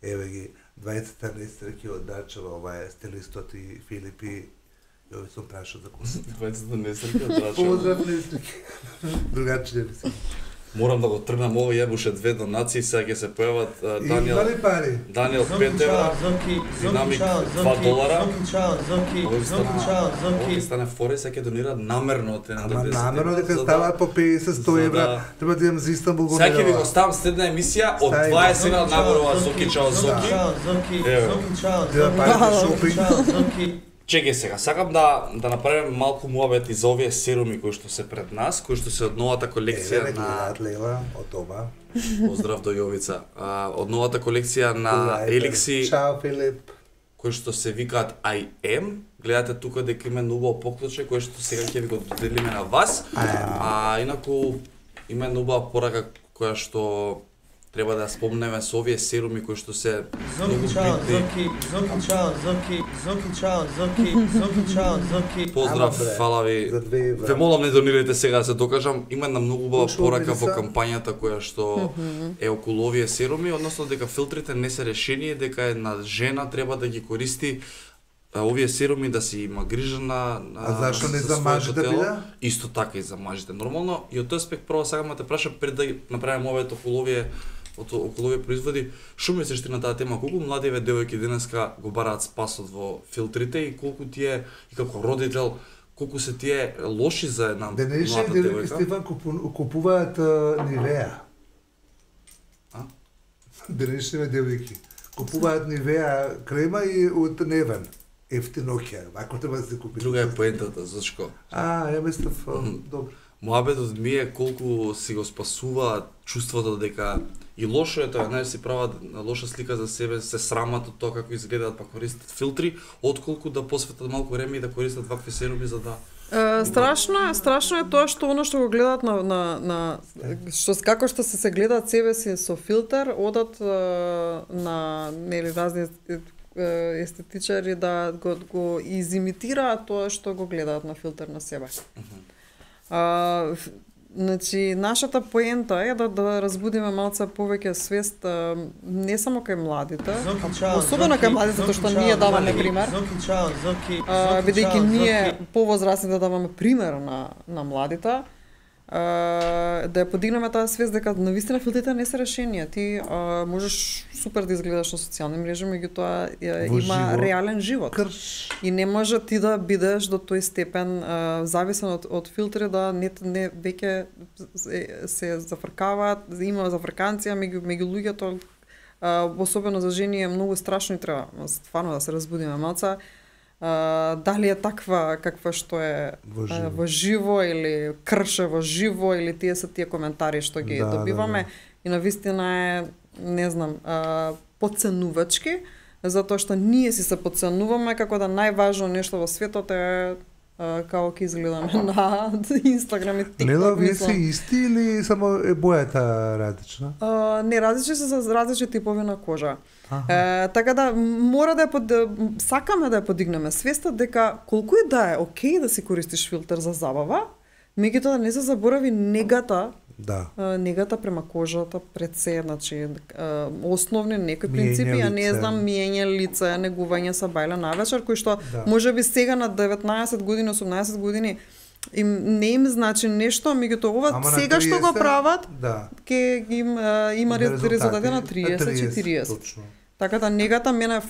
Еве ги, 20 нестрки од Дачева, ова е стилистот и Филипи. Јови сум прашал за косата. 20 нестрки од Дачева. Поздрав нестрки. Другаче не мислам. Морам да го тргнам ова, јебуше 2 донации, сега ќе се појават Даниел. Имали пари? Даниел 5 евра, Динамик 2 долара. Ови стане фори, сега ќе донираат намерно те на 10. Ама намерно дека ставаат по 50-100 евра, треба да имам за Истанбул го сега ќе ви го ставам следна емисија од 20 евра нагорува Зоки чао Зоки. Зоки. Чекај сега, сакам да направиме малку муабет и за овие серуми кои што се пред нас, кои што се од новата колекција на Лела од ова. Поздрав до Јовица. Од новата колекција на Еликси. Чао Филип. Кои што се викаат I am. Гледате тука дека има убаво поклуче кој што сега ќе ви го доделиме на вас. Инаку има убава порака која што треба да спомнеме со овие серуми кои што се Зоки чао, Зоки. Поздрав, фала ви. Ве молам не донирайте сега да се докажам. Има една многу убава порака во кампањата која што е околу овие серуми, односно дека филтрите не се решение, дека една жена треба да ги користи овие серуми да си има грижа на зашто не за мажите биде? Исто така и за мажите. Нормално, и од тој аспект прво сакам да те прашам пред да направиме овие околу овие производи, што мислиш ти на таа тема? Колку младиве девојки денеска го бараат спасот во филтрите и колку тие и како родител колку се тие лоши за една млада девојка? Денешни Стефан купуваат Нивеа. Денешни девојки купуваат Нивеа крема и од Невен. Ефтиноќа, ако треба да се купи. Друга е поентата, зашко? Ја мислев, добро. Моабетот ми е колку си го спасува чувството дека и лошо е тоа, знаеш, си прават лоша слика за себе, се срамат од тоа како изгледаат, па користат филтри, отколку да посветат малку време и да користат вакви серуми за да страшно е тоа што оно што го гледаат на што како што се гледаат себе си со филтер, одат на нели разни естетичари да го изимитираат тоа што го гледаат на филтер на себе. Значи, нашата поента е да разбудиме малце повеќе свест не само кај младите, особено кај младите, затоа што ние даваме пример. Бидејќи ние повозрастни да даваме пример на младите, да ја подигнеме таа свест дека навистина филтрите не се решение. Ти можеш супер да изгледаш на социјални мрежи, меѓутоа има реален живот. И не може ти да бидеш до тој степен зависен од филтри да не веќе се зафркаваат, има зафрканција меѓу луѓето, особено за жени е многу страшно и треба стварно да се разбудиме малце. Дали е таква каква што е во живо или крше во живо или тие се тие коментари што ги добиваме и навистина е, не знам, подценувачки, затоа што ние си се подценуваме како да најважно нешто во светот е како ќе изгледаме на Инстаграм и ТикТок. Нела, вие си исти или само е бојата различна? Не, различни се за различни типови на кожа. Така да мора да сакаме да ја подигнеме свеста дека колку и да е окей да си користиш филтер за забава, меѓутоа да не се заборави негата. Да. Негата према кожата пред се, значи основни некои принципи, а не знам миење лице, негување са бајле навечер, кои што можеби сега на 19 години, 18 години не им значи нешто, меѓутоа ова сега 30, што го прават, ќе им има резултати на 30-40. Точно. Така да негата мене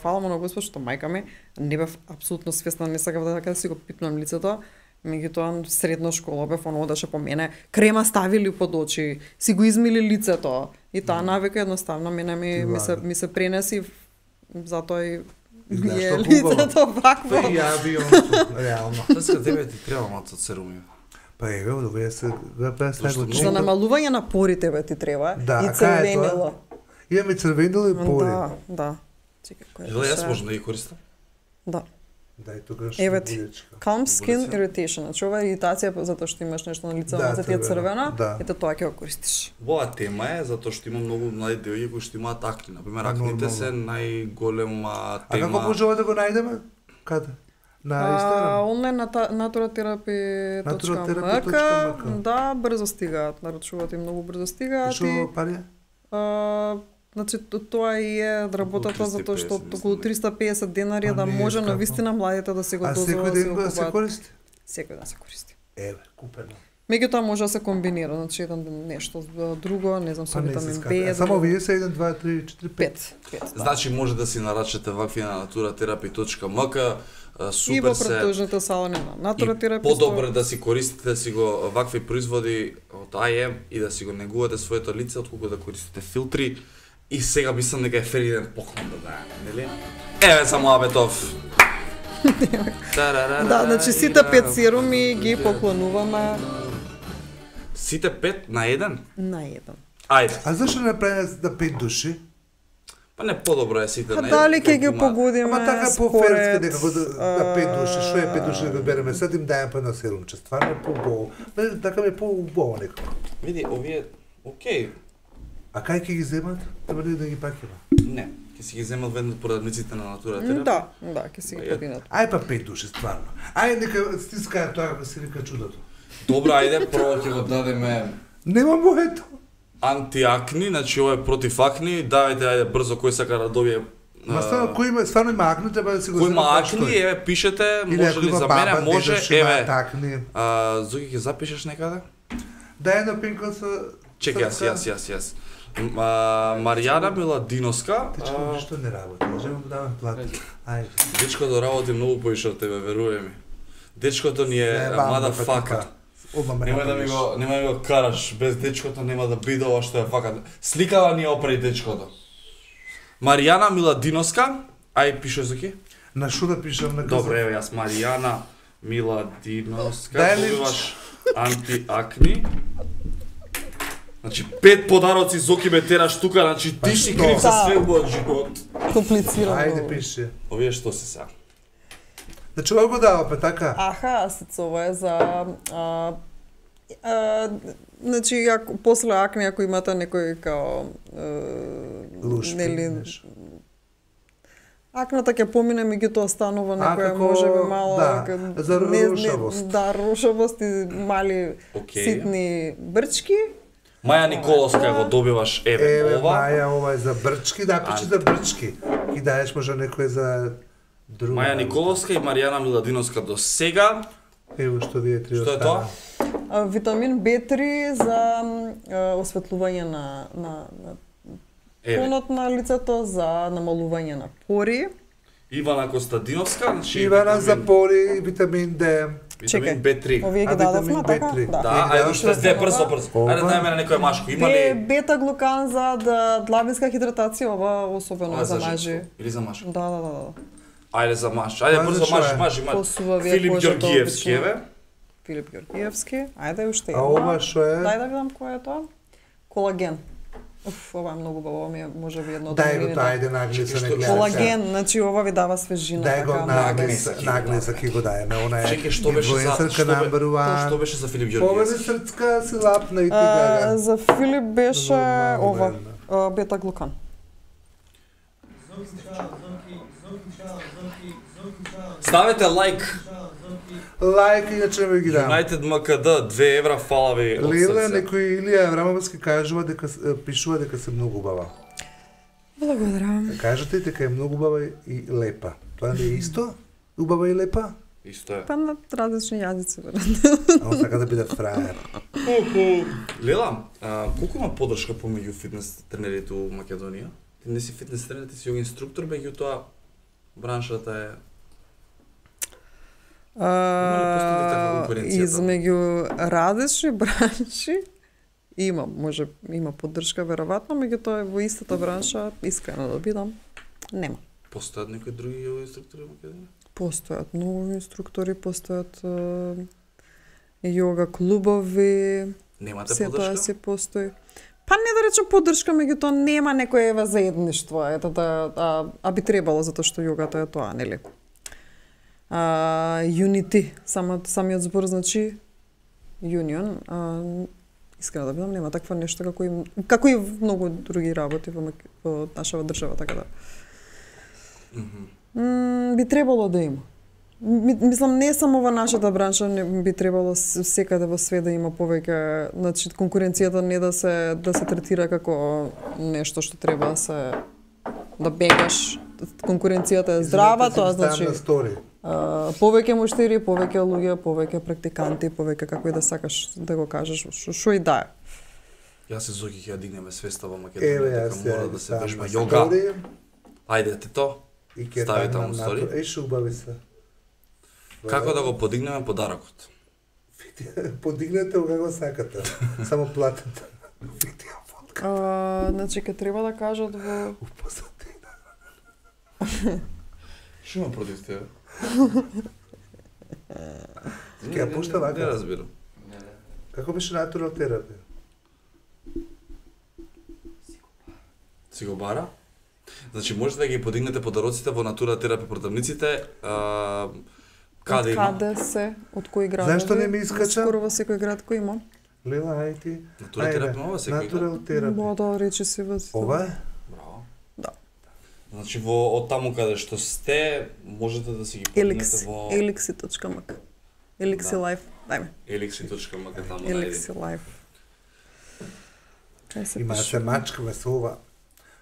фала му на Господ што мајка ми не бев апсолутно свесна, не сакав да си го пипнам лицето. Меѓутоа средна школа бев одеше по мене, крема ставили под очи, си го измили лицето и таа навика едноставно мене ми се пренеси, затоа и е лицето вакво. Ја би реално. Сега тебе ти треба малку серуми. Па еве, овие се за намалување на порите ти треба и црвенило. Имаме црвенило и пори. Да. Чекај, кој е? Јас можам да ги користам? Да. Дај тогаш. Еве ти, calm skin irritation. Значи ова е иритација затоа што имаш нешто на лицето, на ти е црвено, ето тоа ќе го користиш. Ова тема е затоа што има многу млади девојки кои што имаат акни. Например, акните се најголема тема. А како можеме да го најдеме? Каде? На Инстаграм? Онлайн на naturotherapy.mk. Да, брзо стигаат, наручуваат и многу брзо стигаат. Што пари? Значи тоа и е работата затоа што околу 350 денари да може навистина младите да се го дозволат да се го се користи? Секој ден се користи. Еве, купено. Меѓутоа може да се комбинира, значи еден нешто друго, не знам, со витамин Б. Само вие се 1 2 3 4 5. Значи може да си нарачате вакви на naturatherapy.mk. Супер и во претежните салони на Naturatherapy. Подобро да си користите да си го вакви производи од IM и да си го негувате своето лице отколку да користите филтри. И сега мислам дека е фериден поклон да дајаме, нели? Еве само Абетов. Да, значи сите 5 серуми ги поклонуваме. Сите 5 на еден? На еден. Ајде. А зашто не правиме за 5 души? Па не подобро е сите на еден. Дали ќе ги погодиме? Ама така по-ферски некако да 5 души, што е 5 души да береме, сад им дајам по едно серумче. Стварно е по-убаво. Така ми е по-убаво некако. Види, овие, окей. А кај ќе ги земат? Треба ли да ги пакива? Не, ќе си ги земат веднаш продавниците на натура терапија. Да, ќе си ги подинат. Ај па 5 души стварно. Ај нека стискаја тоа како се вика чудото. Добро, ајде, прво ќе го дадеме Нема моето. антиакни, значи ова е против акни, давајте ајде брзо кој сака да добие. Ма стварно има акни, треба да си го Кој има земат акни, еве пишете, може ли за мене, може, еве. Зоки ќе запишеш некаде? Дај на пинка со... Чекај, јас. Маријана Миладиновска. Ништо не работи, можеме да давам плат. Ајде. Дечкото работи многу поише од тебе, веруј ми. Дечкото ни е motherfucker. Нема да ми го караш, без дечкото нема да биде ова што е фака. Сликава ни опреди дечкото. Маријана Миладиновска, ај пишеш Зоки? На шо да пишам на каза? Добре, еве јас Маријана Миладиновска, Дај ли- добиваш антиакни. Значи 5 подароци Зоки ме тераш тука, значи ти си крив за све во живот. Комплицирано. Ајде пиши. Овие што се сега? Значи ова го дава па така. Аха, ова е за значи после акне ако имате некој као Луш акната ќе помине, меѓутоа станува некоја можеби мало за рушавост. Да, рушавост и мали ситни брчки. Маја Николовска го добиваш, еве ова. Маја, ова е за брчки, да, пиши за брчки. И даеш може некој за друга. Маја Николовска и Маријана Миладиновска до сега. Ево што вие три Што е остана. тоа? Витамин B3 за осветлување на тонот на лицето, за намалување на пори. Ивана Костадиновска, значи Ивана за пори, витамин D. Витамин B3. Овие ги дадовме, така? Да, ајде уште две брзо. Ајде дајме на некој машко. Има ли бета-глукан за длабинска хидратација, ова особено за мажи. Или за машко? Да. Ајде за маш. Ајде брзо маш. Филип Ѓоргиевски, еве. Филип Ѓоргиевски. Ајде уште една. А ова што е? Дај да видам кој е тоа. Колаген. Ова е многу баба, ми е можеби едно од Дај го тоа, ајде наглеса не гледа. Колаген, значи ова ви дава свежина. Дај го наглеса ки го дајме, она е. Чекај, што беше за Филип Ѓоргиевски? Повеќе срцка си лапна и ти гага. За Филип беше ова, бета-глукан. Ставете лайк. Лайк, иначе ме ги дам. United МКД, 2 евра, фала ви од Леле, срце. некој Илија Аврамовски кажува дека пишува дека се многу убава. Благодарам. Кажете дека е многу убава и лепа. Тоа не е исто? Убава и лепа? Исто е. Па на различни јазици, веројатно. А он сака да биде фраер. Лела, колку има поддршка помеѓу фитнес тренерите у Македонија? Ти не си фитнес тренер, ти си јог инструктор, меѓутоа браншата е... Измеѓу различни бранши има поддршка веројатно, меѓутоа во истата бранша, искрено да бидам, нема. Постојат некои други јога инструктори во Македонија? Постојат многу инструктори, постојат јога клубови. Немате се поддршка? Тоа се постои. Па не да речем поддршка, меѓутоа нема некој заедништво, ето а би требало затоа што јогата е тоа, нели? Unity, самиот збор значи Union. Искрено да бидам, нема таква нешто како и многу други работи во нашава држава, така да. Би требало да има. Мислам, не само во нашата бранша, не би требало секаде во свет да има повеќе, значи конкуренцијата не да се третира како нешто што треба да бегаш. Конкуренцијата е здрава, тоа значи повеќе муштери, повеќе луѓе, повеќе практиканти, повеќе како и да сакаш да го кажеш, што и да е. Јас се Зоки ќе ја дигнеме свеста во Македонија, дека мора да се вежба јога. Ајде те то. Стави таму стори. Еше убави се. Како да го подигнеме подарокот? Подигнете го како сакате. Само платете. Значи ќе треба да кажат во Што има против тебе? Ќе ја пушта вака? Не разбирам. Како беше натурал терапија? Си го бара? Значи можете да ги подигнете подароците во натура терапија продавниците. Каде има? Каде се, од кои градови? Зашто не ми искача? Скоро во секој град кој има. Лела, ај ти. Натура терапија ова секој. Натурал терапија. Да, рече си во. Ова е? Браво. Да. Значи од таму каде што сте, можете да си ги поднете во elixi.mk. Elixi Life. Дајме. elixi.mk таму Elixi Life. Има се мачкаме со ова.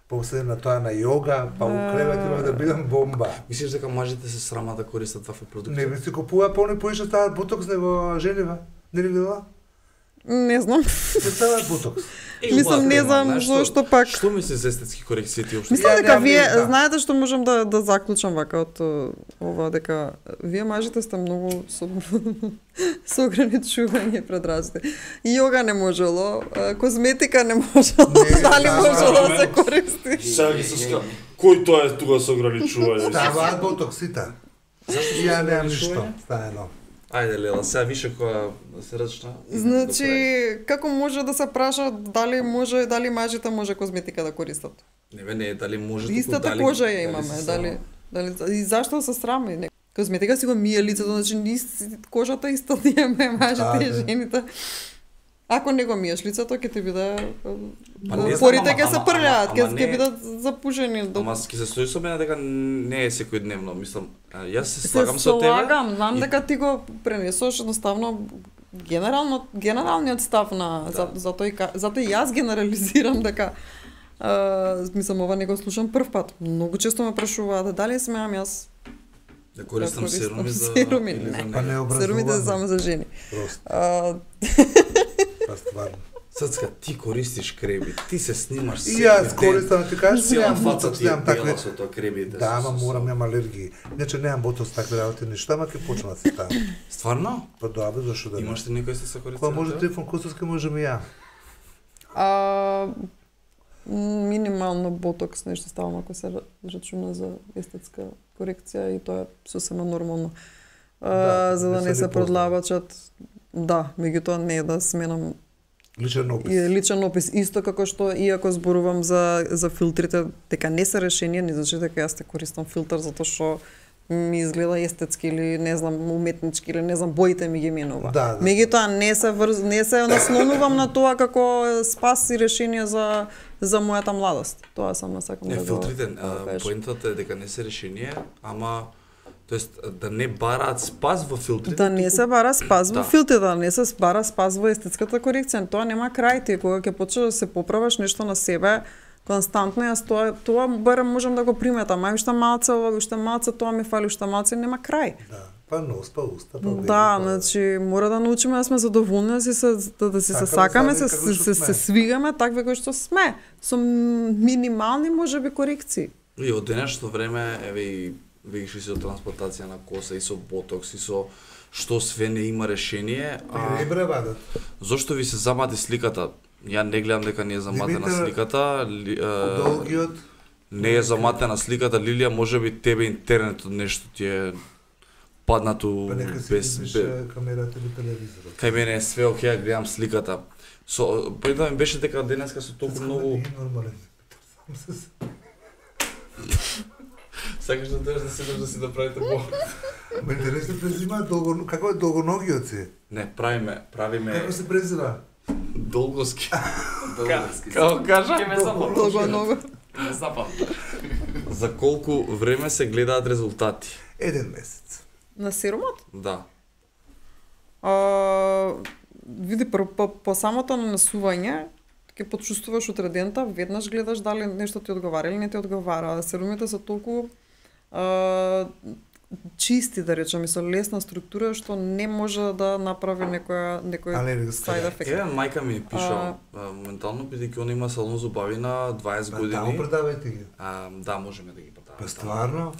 После на тоа на йога, па у кревет има да бидам бомба. Мислиш дека мажите се срама да користат вакви продукти? Не, се купува полни поише стават ботокс него Женева. Не ли видела? Не знам. Не стават ботокс. Мислам, не знам зошто пак. Што мислиш за естетски корекции ти општо? Мислам дека вие знаете што можам да заклучам вака од ова, дека вие мажите сте многу со ограничување пред разите. Йога не можело, козметика не можело, дали можело да се користи. Сега ги се ска. Кој тоа е тука со ограничување? Ставаат ботоксите. Зашто Ја немам ништо, стаено. Ајде Лела, сега више која се рачна. Значи, како може да се праша дали мажите може козметика да користат? Не е дали може Истата кожа ја имаме, дали и зашто се срами? Козметика си го мие лицето, значи кожата исто имаме мажите и жените. Ако не го миеш лицето, ќе ти биде порите ќе се прљаат, ќе бидат запушени. Ама ќе се стои со мене дека не е секојдневно, мислам. Јас се слагам со тебе. Се слагам, знам дека ти го пренесош едноставно генералниот став на затоа и јас генерализирам дека мислам ова не го слушам прв пат. Многу често ме прашуваат дали смеам јас да користам серуми за серумите само за жени. Па стварно. Сацка, ти користиш креби, ти се снимаш секој ден. И јас користам, ти кажеш, немам ботокс, немам такви. Со тоа кребите. Да, ама морам, немам алергии. Иначе немам ботокс такви работи, ништо, ама ќе почнам да се ставам. Стварно? Па добре, зашто да не. Имаш ли некој се користи? Кога може Трифон Костовски, можем и ја. Минимално ботокс нешто ставам ако се рачуна за естетска корекција и тоа е сосема нормално. За да не се продлабачат. Да, меѓутоа не е да сменам личен опис. Исто како што иако зборувам за филтрите, дека не се решение, не значи дека јас те користам филтр затоа што ми изгледа естетски или не знам уметнички или не знам боите ми ги менува. Да. Меѓутоа не се наслонувам на тоа како спас и решение за мојата младост. Тоа сам сакам да го. Филтрите, поентата е дека не се решение, ама тоест да не бараат спас во филтрите. Да не се бара спас во филтрите, да не се бара спас во естетската корекција. Тоа нема крај. Ти кога ќе почнеш да се поправаш нешто на себе, константно јас тоа барем можам да го приметам. Ај уште малце ова, уште малце тоа ми фали, уште малце нема крај. Да. Па нос, па уста, па беби. Да, значи мора да научиме да сме задоволни, да се сакаме, се свигаме такви кои што сме, со минимални можеби корекции. И од денешното време еве видиш и со трансплантација на коса и со ботокс и со што све не има решение, зошто ви се замати сликата? Ја не гледам дека не е заматена сликата. Долгиот не е заматена сликата, Лилија, можеби тебе интернетот нешто ти е паднато без камерата или телевизорот. Кај мене е све окей, ја гледам сликата. Поинта ми беше дека денеска со толку многу нормален. Сакаш да дојдеш да седеш да си да правите по. Ме интересно презима како е долгоногиот си? Не, правиме. Како се презира? Долгоски. Како кажа? Долгоного. Не запам. За колку време се гледаат резултати? 1 месец. На серумот? Да. Види, по самото нанесување, ќе почувствуваш отредента, веднаш гледаш дали нешто ти одговара или не ти одговара. Серумите се толку чисти, да речеме, со лесна структура, што не може да направи некој side effect. Мајка ми пиша, моментално, бидејќи она има салон зубави на 20 години. Таму продавајте ги. Да, можеме да ги продаваме. Па стварно?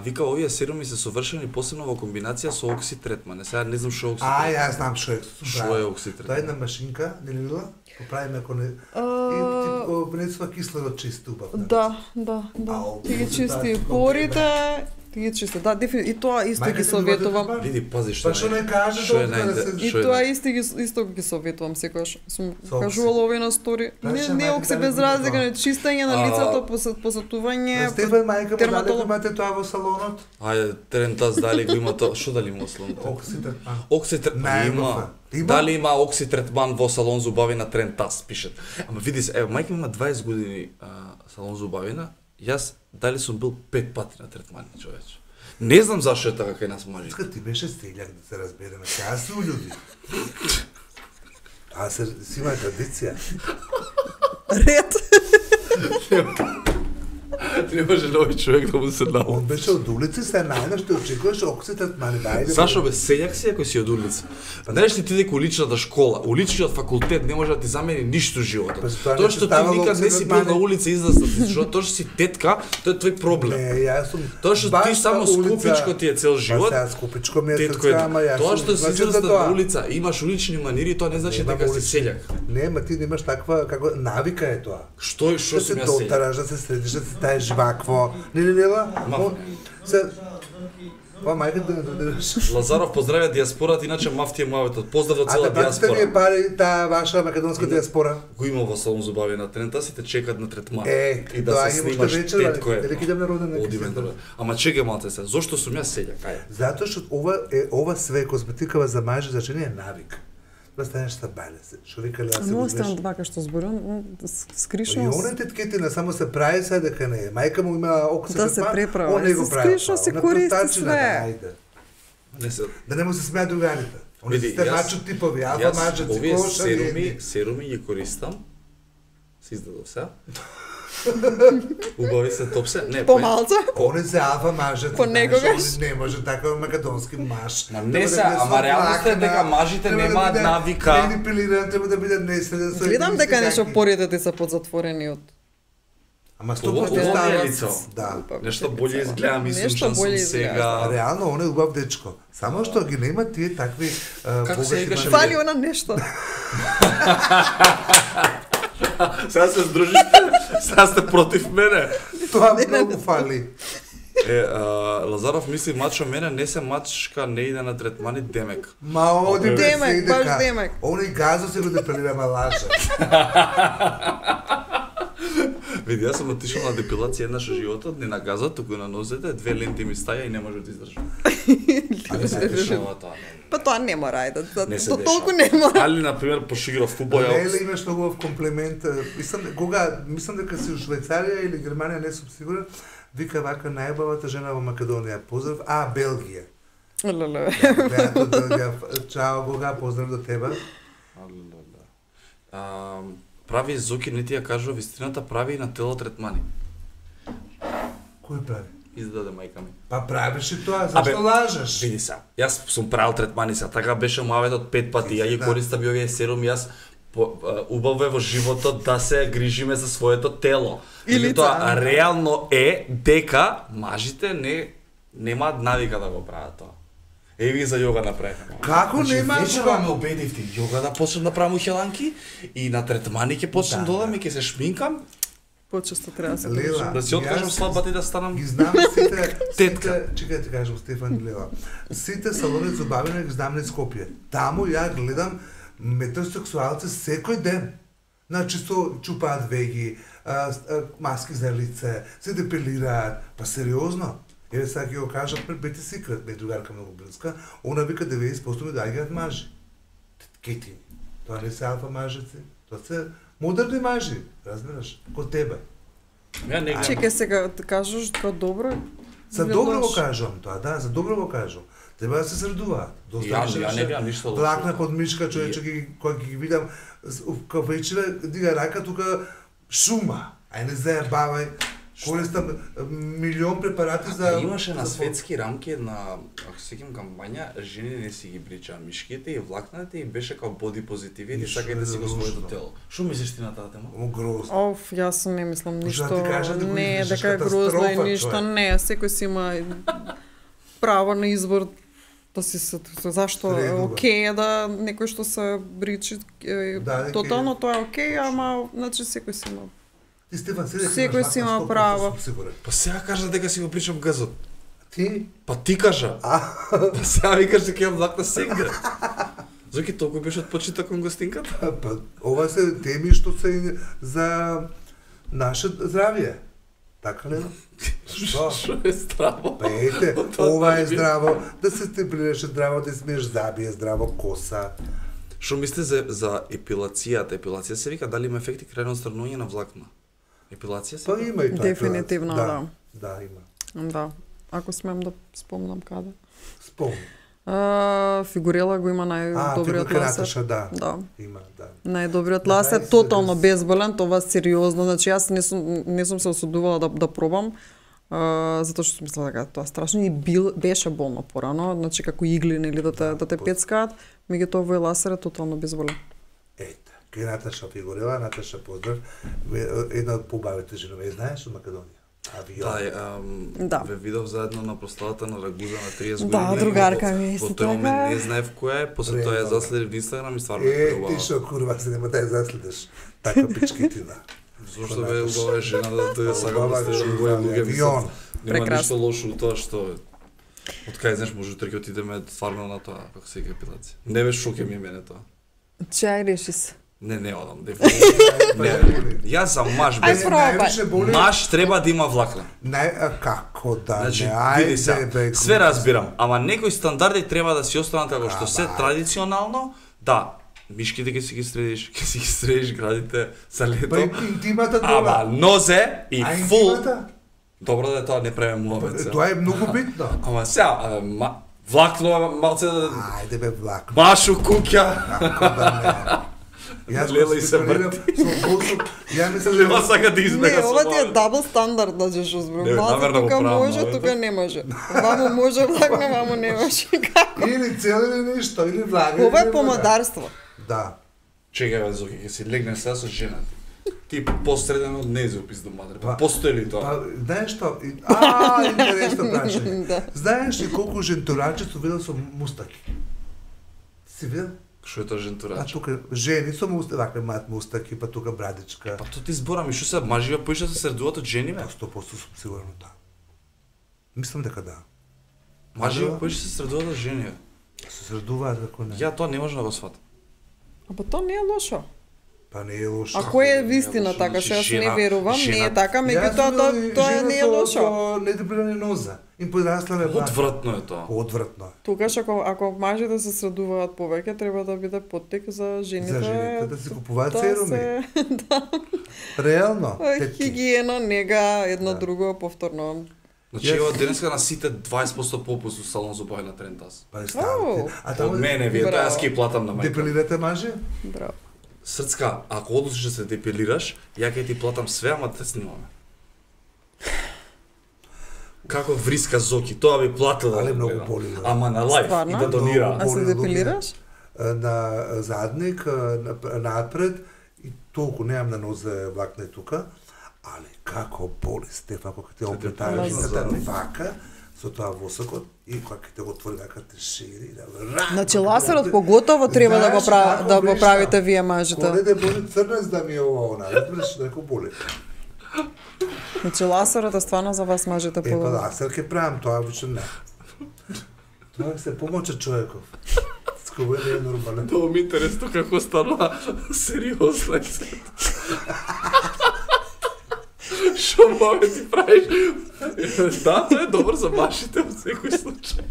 Вика, овие серуми се совршени посебно во комбинација со окситретман. Сега не знам што е А, окситретман. јас знам што е. Што е окситретман? Тоа е една машинка, не ли била? Поправиме ако не... И ти го внесува кислород чист убав. Да. Ти ги чисти порите Ти ги чисти, да, и тоа исто ги советувам. Види, пази што. Па што не кажеш И тоа исто ги советувам секогаш. Сум кажувала овој на стори. Не окси без разлика, не чистење на лицето, посетување. Стефан мајка му даде имате тоа во салонот. Ајде, Трентас дали го има тоа? Што дали има во салонот? Окситретман. Има. Дали има окситретман во салон зубавина Трентас, пишат. Ама види се, ево, мајка има 20 години салон зубавина. Јас дали сум бил 5 пати на третмани, човече. Не знам зашто е така кај нас мажи. Ти беше селјак да се разбереме. Кај су луѓе. Си има традиција. Ред. Не може нови човек да му се научи. Он беше од улица, се најна што очекуваш окситретмани. Зашо бе, селјак си ако си од улица? Па знаеш ли ти дека уличната школа, уличниот факултет не може да ти замени ништо животот. Тоа што ти никад не си бил на улица израснат, зашто тоа што си тетка, тоа е твој проблем. Не, јас сум. Тоа што ти само скупичко ти е цел живот. Па сега скупичко ми е срцка, ама јас. Тоа што си израснат на улица, имаш улични манири, тоа не значи дека си селјак. Не, ма ти немаш таква како навика е тоа. Што сум јас селјак? Да се средиш, да се таеш жвакво. Не. Па мајка да не додираш. Лазаров поздравя диаспората, иначе мафтија муаветот. Поздрав до цела диаспора. А да пари таа ваша македонска диаспора? Го има во салон зубави на Трента, сите чекат на третман. И да се снимаш тетко е. Дали идам на роден нека. Ама чекај малце се. Зошто сум јас селјак? Ајде. Затоа што ова све козметикава за мажи за жени е навик. Да станеш стабилен се. Што викале да се. Но остан вака што зборувам, скришно. И оне тетките на само се прави се дека не е. Мајка му има окситретман. Да се преправа. Он не го прави. Скришно се користи све. Да не му се смеат другарите. Они сте мачо типови, алфа маджаци, коша серуми ги користам. Се издадов се. Убави се топсе. Не, помалце. Они се алфа мажаци. Понекогаш. Не може така македонски маж. Не се, ама реалноста е дека мажите немаат навика. Не пилиран, треба да бидат неследен. Гледам дека нешто порите ти се подзатворени од. Ама 100% лицо. Да. Нешто боле изгледа, мислам што сум сега. Реално он е убав дечко. Само што ги нема тие такви богати. Фали она нешто. Сега се здружите, сега сте против мене. Тоа многу фали. Лазаров мисли мачо мене, не се мачка, не иде на третмани, демек. Ма оди демек, баш демек. Они газо се го депилира, ма лажа. Види, јас сум отишол на депилација еднаш во животот, не на газот, туку на нозете, 2 ленти ми стаја и не може да издржам. Па тоа не мора, ајде, тоа толку не мора. Али, например, пошиграв фудбал, Леле, имаш многу убав комплимент. Мислам дека си у Швајцарија или Германија, не сум сигурен, вика вака најубавата жена во Македонија. Поздрав, Белгија. Леле. Чао, Гога, поздрав до тебе. Прави Зоки, не ти ја кажува вистината, прави и на тело третмани. Кој прави? Издаде мајка ми. Па правиш и тоа, зашто лажеш? Види се, јас сум правил третмани се, така беше муаветот 5 пати, ја ги користам и овие серуми, јас убаво е во животот да се грижиме за своето тело. Или тоа реално е дека мажите немаат навика да го прават тоа. Еви за јога направивме. Како нема? Вечера ме убедивте јога да почнам да правам ухеланки и на третмани ќе почнам да одам и ќе се шминкам. Почесто треба да се Лела, да си откажам слабата и да станам. Ги знам сите тетка. Чекај ти кажам Стефан Лела. Сите салони за бавење ги знам на Скопје. Таму ја гледам метросексуалци секој ден. Значи чупаат веги, маски за лице, се депилираат, па сериозно. Еве сега ќе го кажат пред бете секрет, ме другарка многу близка, она вика 90% ми доаѓаат мажи. Кетини. Тоа не се алфа мажици, тоа се модерни мажи, разбираш, ко тебе. Чекај сега, да кажеш тоа добро? За добро го кажувам тоа, да, за добро го кажувам. Треба да се средуваат. Ја не гледам ништо лошо. Плакна под мишка човече, кога ги видам, кога вечера дига рака, тука шума. Ај не заебавај. Користам милион препарати за... Имаше на светски рамки една, ако се сеќам кампања, жени не си ги бричаа мишките и влакната и беше као боди позитивен и сакај да си го своето тело. Што мислиш ти на таа тема? Грозно. Јас не мислам ништо. Не, дека е грозно и ништо. Не, секој си има право на избор да си се... Зашто е окей да некој што се бричи тотално, тоа е окей, ама значи секој си има. Ти Стефан, секој си има право. Па сега кажа дека си го причам газот. Ти? Па ти кажа. Па сега викаш дека имам влакна сегде. Зоки толку беше од почита кон гостинката? Па, ова се теми што се за наше здравје. Така ли? Што е здраво? Па ете, ова е здраво, да се степлираш здраво, да смееш забија здраво коса. Што мислите за епилацијата? Епилација се вика дали има ефекти крај отстранување на влакна? Епилација се? Па има и тоа. Дефинитивно, да. Да, има. Да. Ако смем да спомнам каде. Спомни. Фигурела го има најдобриот ласер. Да. Има, да. Најдобриот ласер, тотално безболен, това сериозно. Значи јас не сум се осудувала да пробам, затоа што сум мислела дека тоа страшно и беше болно порано, значи како игли нели да те пецкаат, меѓутоа овој ласер е тотално безболен. Ете, кај Наташа Фигурела, Наташа поздрав, една од побавите женови, знаеш од Македонија. Да, ве видов заедно на прославата на Рагуза на 30 години. Да, другарка ми исто така. Во тој момент не знаев која е, после тоа ја заследив во Инстаграм и стварно е убава. Ти што курва се нема да ја заследиш. Така пичкитина. Зошто бе убава е жена да те сакам да стежам гој луѓе. Нема ништо лошо у тоа што од кај знаеш може утре ќе отидеме стварно на тоа како се ика епилација. Не беше шоке ми мене тоа. Чај реши се. Не одам, дефинитивно. Јас за маж без маж треба да има влакна. Како да значи, не, ајде, све разбирам, ама некои стандарди треба да си останат како што се традиционално, да, мишките ќе си ги средиш градите за лето. Па интимата тоа. Ама нозе и фул. Добро да тоа не правиме муабет. Тоа е многу битно. Ама сега, влакно малце да... Ајде бе влакно. Машу куќа. Како да не. Лела и се врти. Ја мислам Лела сака да избега Не, со ова ти е дабл стандард, да жеш озбрам. Малце тука може, тука не може. Вамо може влакно, вамо не може. Како? Или цел или ништо, или влага. Ова е помодарство. Да. Чекај бе, Зоки, ќе си легнеш сега со жената. Ти посреден од незе опис до матер. Постои ли тоа? Знаеш што? Интересно прашање. Знаеш ли колку жентурачи су видел со мустаки? Си видел? Што е тоа жентурач? Тука жени со мустаки, вакве мат мустаки, па тука брадичка. Па тоа ти зборам и што се мажија поише се средуваат од жени бе? 100% сум сигурно да. Мислам дека да. Мажија поише се средуваат од жени бе? Се средуваат како не. Ја тоа не можам да го сватам. Па тоа не е лошо. Па не е лошо. Ако е вистина така, што јас не верувам, не е така, меѓутоа тоа не е лошо. Недепилена ноза. Им подраславе бак. Одвратно е тоа. Одвратно. Тогаш ако мажите се средуваат повеќе, треба да биде поттик за жените. За жените да се купуваат серуми. Да. Реално. Хигиена, нега, едно друго повторно. Значи, ова денеска на сите 20% попуст у салон за бајна Трентас. Па ставите. Од мене, вие тоа јас ќе платам на мајка. Депилирате маже? Браво. Срцка, ако одлучиш да се депилираш, ја ќе ти платам све, ама те снимаме. Како вриска Зоки, тоа би платила. Але многу боли. Ама на лајф и да донира. А се депилираш? На задник, напред и толку немам на нозе влакне тука, але како боли Стефан кога те оплетаеш на вака со тоа восокот и кога ќе те го отвори вака те шири да. Значи ласерот поготово треба да го правите вие мажите. Коли да боли црнец да ми е ова она, разбираш како боли. Значи ласерот е стварно за вас мажите по. Па ласер ќе правам тоа више не. Тоа се помоча човеков. Скоро не е нормално. Тоа ми интересно како станува сериозно. Што може ти правиш? Да, тоа е добро за машите во секој случај.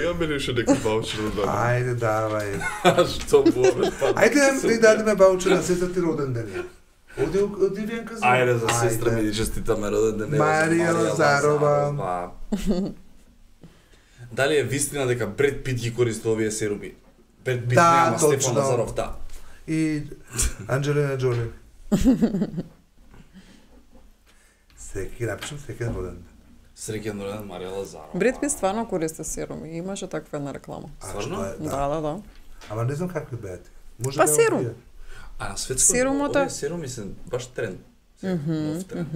Ја мене уште некој баучер да дадам. Ајде, давај. Што може? Ајде да дадеме баучер на сестра ти роден ден. Оди Венка за... Ајде за сестра ми честитаме роден ден. Марија Лазарова. Дали е вистина дека Бред Пит ги користи овие серуми? Бред Пит нема Стефан Лазаров, да. И Анджелина Джоли. Секи напишам среќен роден ден. Среќен роден Марија Лазарова. Бред Пит стварно користи серуми, имаше таква една реклама. Стварно? Да. Ама не знам какви беат. Па серум. А на светско овие серуми се баш тренд. Нов тренд.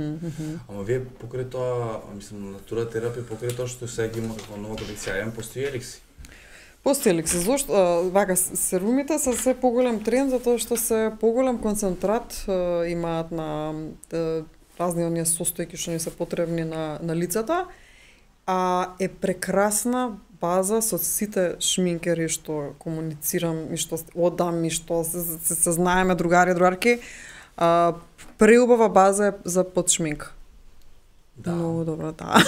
Ама вие покрај тоа, мислам, натура терапија покрај тоа што сега ги има како нова колекција, постои Елекси. Постои Елекси, зошто вака серумите се се поголем тренд затоа што се поголем концентрат имаат на разни оние состојки што ни се потребни на лицата Е прекрасна база со сите шминкери што комуницирам и што одам и што се знаеме другарки. Преубава база е за подшминка. Да. Многу добро, да.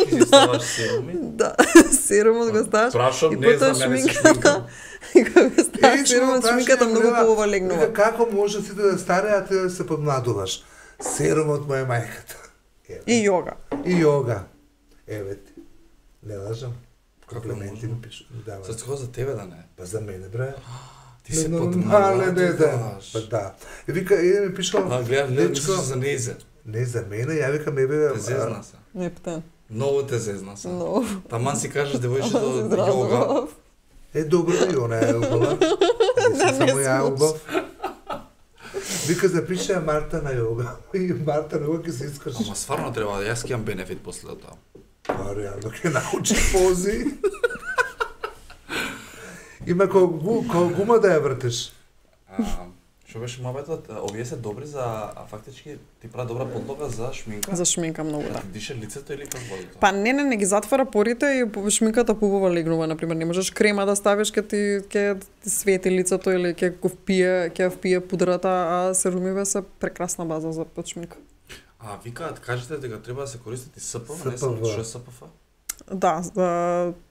Ти ставаш серуми? Да, серумот го ставаш. Прашам, не знам, ја не се шминкам. И кога ставаш серумот, шминката многу побава легнува. Како може сите да стареат и да се подмладуваш? Серумот му е мајката. И јога. И јога. Еве ти. Не лажам. Комплименти ми пишу. За тоа за тебе да не. Па за мене, бре. Ти се подмладуваш. Па да. И вика, ми пишал. Гледам, за незе. Не за мене, ја викам ебе. Те зезна се. Не птен. Многу те зезна се. Многу. Таман си кажеш девојчето јога. Добро и она е убава. Не само ја убав. Вика запиша Марта на јога. И Марта на јога ќе се искаш. Ама стварно треба да јас ќе имам бенефит после тоа. Па реално ќе научи пози. Има кога гума да ја вртиш. Што беше мабетот, овие се добри за фактички ти прави добра подлога за шминка. За шминка многу, да. Дише лицето или како води тоа? Па не ги затвара порите и шминката побава легнува, например, не можеш крема да ставиш ќе ти свети лицето или ќе впие пудрата, а серумиве се прекрасна база за подшминка. Викаат, кажете дека треба да се користат и СПФ, не само што е СПФ? Да,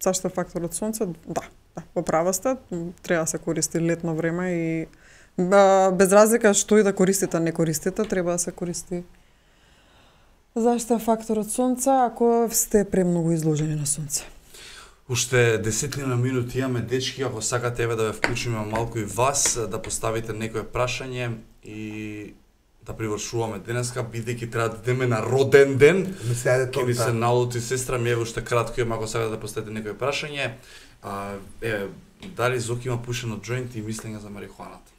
заштитен фактор од сонце, да, во права сте, треба да се користи летно време и без разлика што и да користите, не користите, треба да се користи заштитен фактор од сонце ако сте премногу изложени на сонце. Уште 10 минути имаме, дечки, ако сакате еве да ве вклучиме малку и вас, да поставите некое прашање и да привршуваме денеска, бидејќи треба да идеме на роден ден. Ќе ви се налути сестра ми, еве уште кратко имам, ако сакате да поставите некое прашање. Дали Зоки има пушено джоинт и мислење за марихуаната?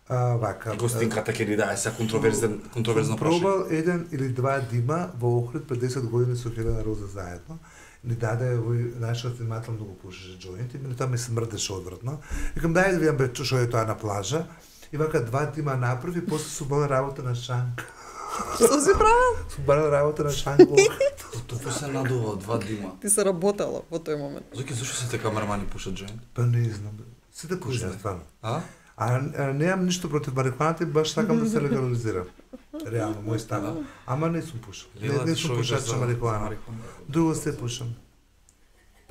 Вака. Гостинката ќе ни даде сега контроверзно прашање. Пробал 1 или 2 дима во Охрид пред 10 години со Хелена Роза заедно. Ни даде овој нашиот снимател многу пушеше джоинт и мене тоа ми смрдеше одвратно. Викам дај да видам што е тоа на плажа. И вака 2 дима направи и после су бала работа на шанк. Што си правил? Су бала работа на шанк во Охрид. Тоа се надува 2 дима. Ти се работела во тој момент. Зоки, зашто сите камермани пушат джоинт? Па не знам. Сите пушат стварно. А немам ништо против марихуаната и баш сакам да се легализира. Реално, мој став. Ама не сум пушал. Не сум пушач на марихуана. Друго се пушам.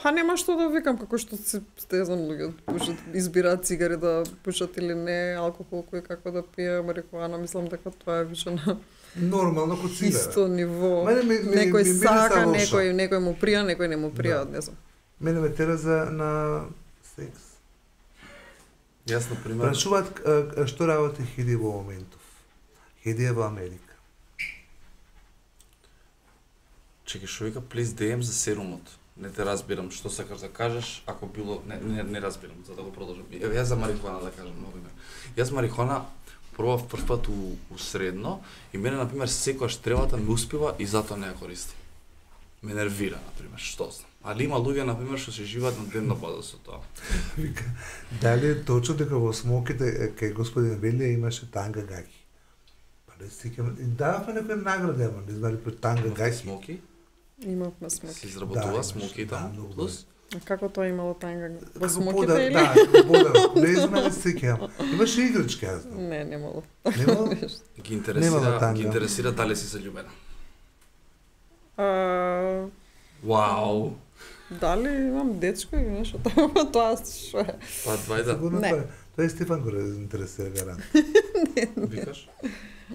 Па нема што да викам, како што сте знам луѓе пушат, избираат цигари да пушат или не, алкохол кој како да пие, марихуана, мислам дека тоа е више на нормално ко цигара. Исто ниво. Некој сака, некој му прија, некој не му прија, не знам. Мене ме тера за на секс. Јас на пример. Прашуваат што работи Хеди во моментов. Хеди е во Америка. Чекај, што вика please DM за серумот. Не те разбирам што сакаш да кажеш, ако било не разбирам, за да го продолжам. Јас за марихуана да кажам многу име. Јас марихуана пробав прв пат у средно и мене на пример секогаш тревата ми успива и затоа не ја користам. Ме нервира на пример, што знам. Али има луѓе на пример што се живеат на дневна база со тоа. Вика, дали е точно дека во смоките кај господин Велија имаше танга гаќи? Па не сикам, давафме некоја награда, ама не знали пред танга гаќи. Смоки? Имавме смоки. Се изработува смоки таму плюс. Како тоа имало танга? Во Како смоките или? Да, подарок. Не знам, не сикам. Имаше игрички, јас знам. Не, немало. Немало? Ги интересира дали си заљубена. Вау. Дали имам дечко или нешто такво, тоа што е? Па двајда. Тоа е Стефан го интересира гарант. Викаш?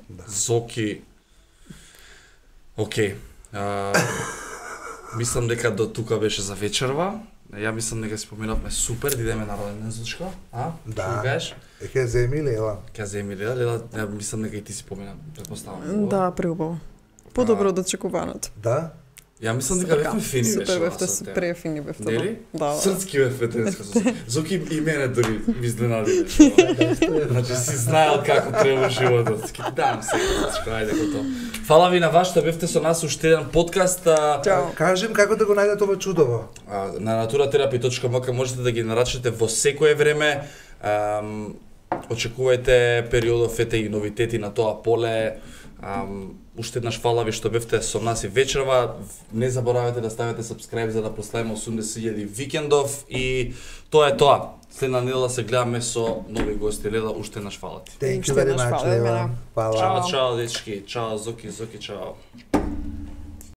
Да. Зоки. Океј. Мислам дека до тука беше за вечерва. Ја мислам дека си поминавме супер, да идеме на роден ден, Зочко. Да. Кажеш? Ќе земи Лела. Ќе земи Лела, мислам дека и ти си помина, претпоставам. Да, преубаво. Подобро од очекуваното. Да. Ја мислам дека бевме фини беше. Супер бевте, префини бевте. Нели? Да. Срцки бевте денеска. Зоки и мене дори ми изненади. Значи си знаел како треба животот. Ки дам се, ајде готово. Фала ви на вас што бевте со нас уште еден подкаст. Чао. Кажем како да го најдете ова чудово. На naturatherapy.mk можете да ги нарачите во секое време. Очекувајте периодов ете и новитети на тоа поле. Уште еднаш фала ви што бевте со нас и вечерва. Не заборавајте да ставите subscribe за да прославиме 80.000 викендов и тоа е тоа. Следна недела се гледаме со нови гости. Лела, уште еднаш фала ти. Thank you very much, Лела. Чао, чао, дечки. Чао, Зоки, чао.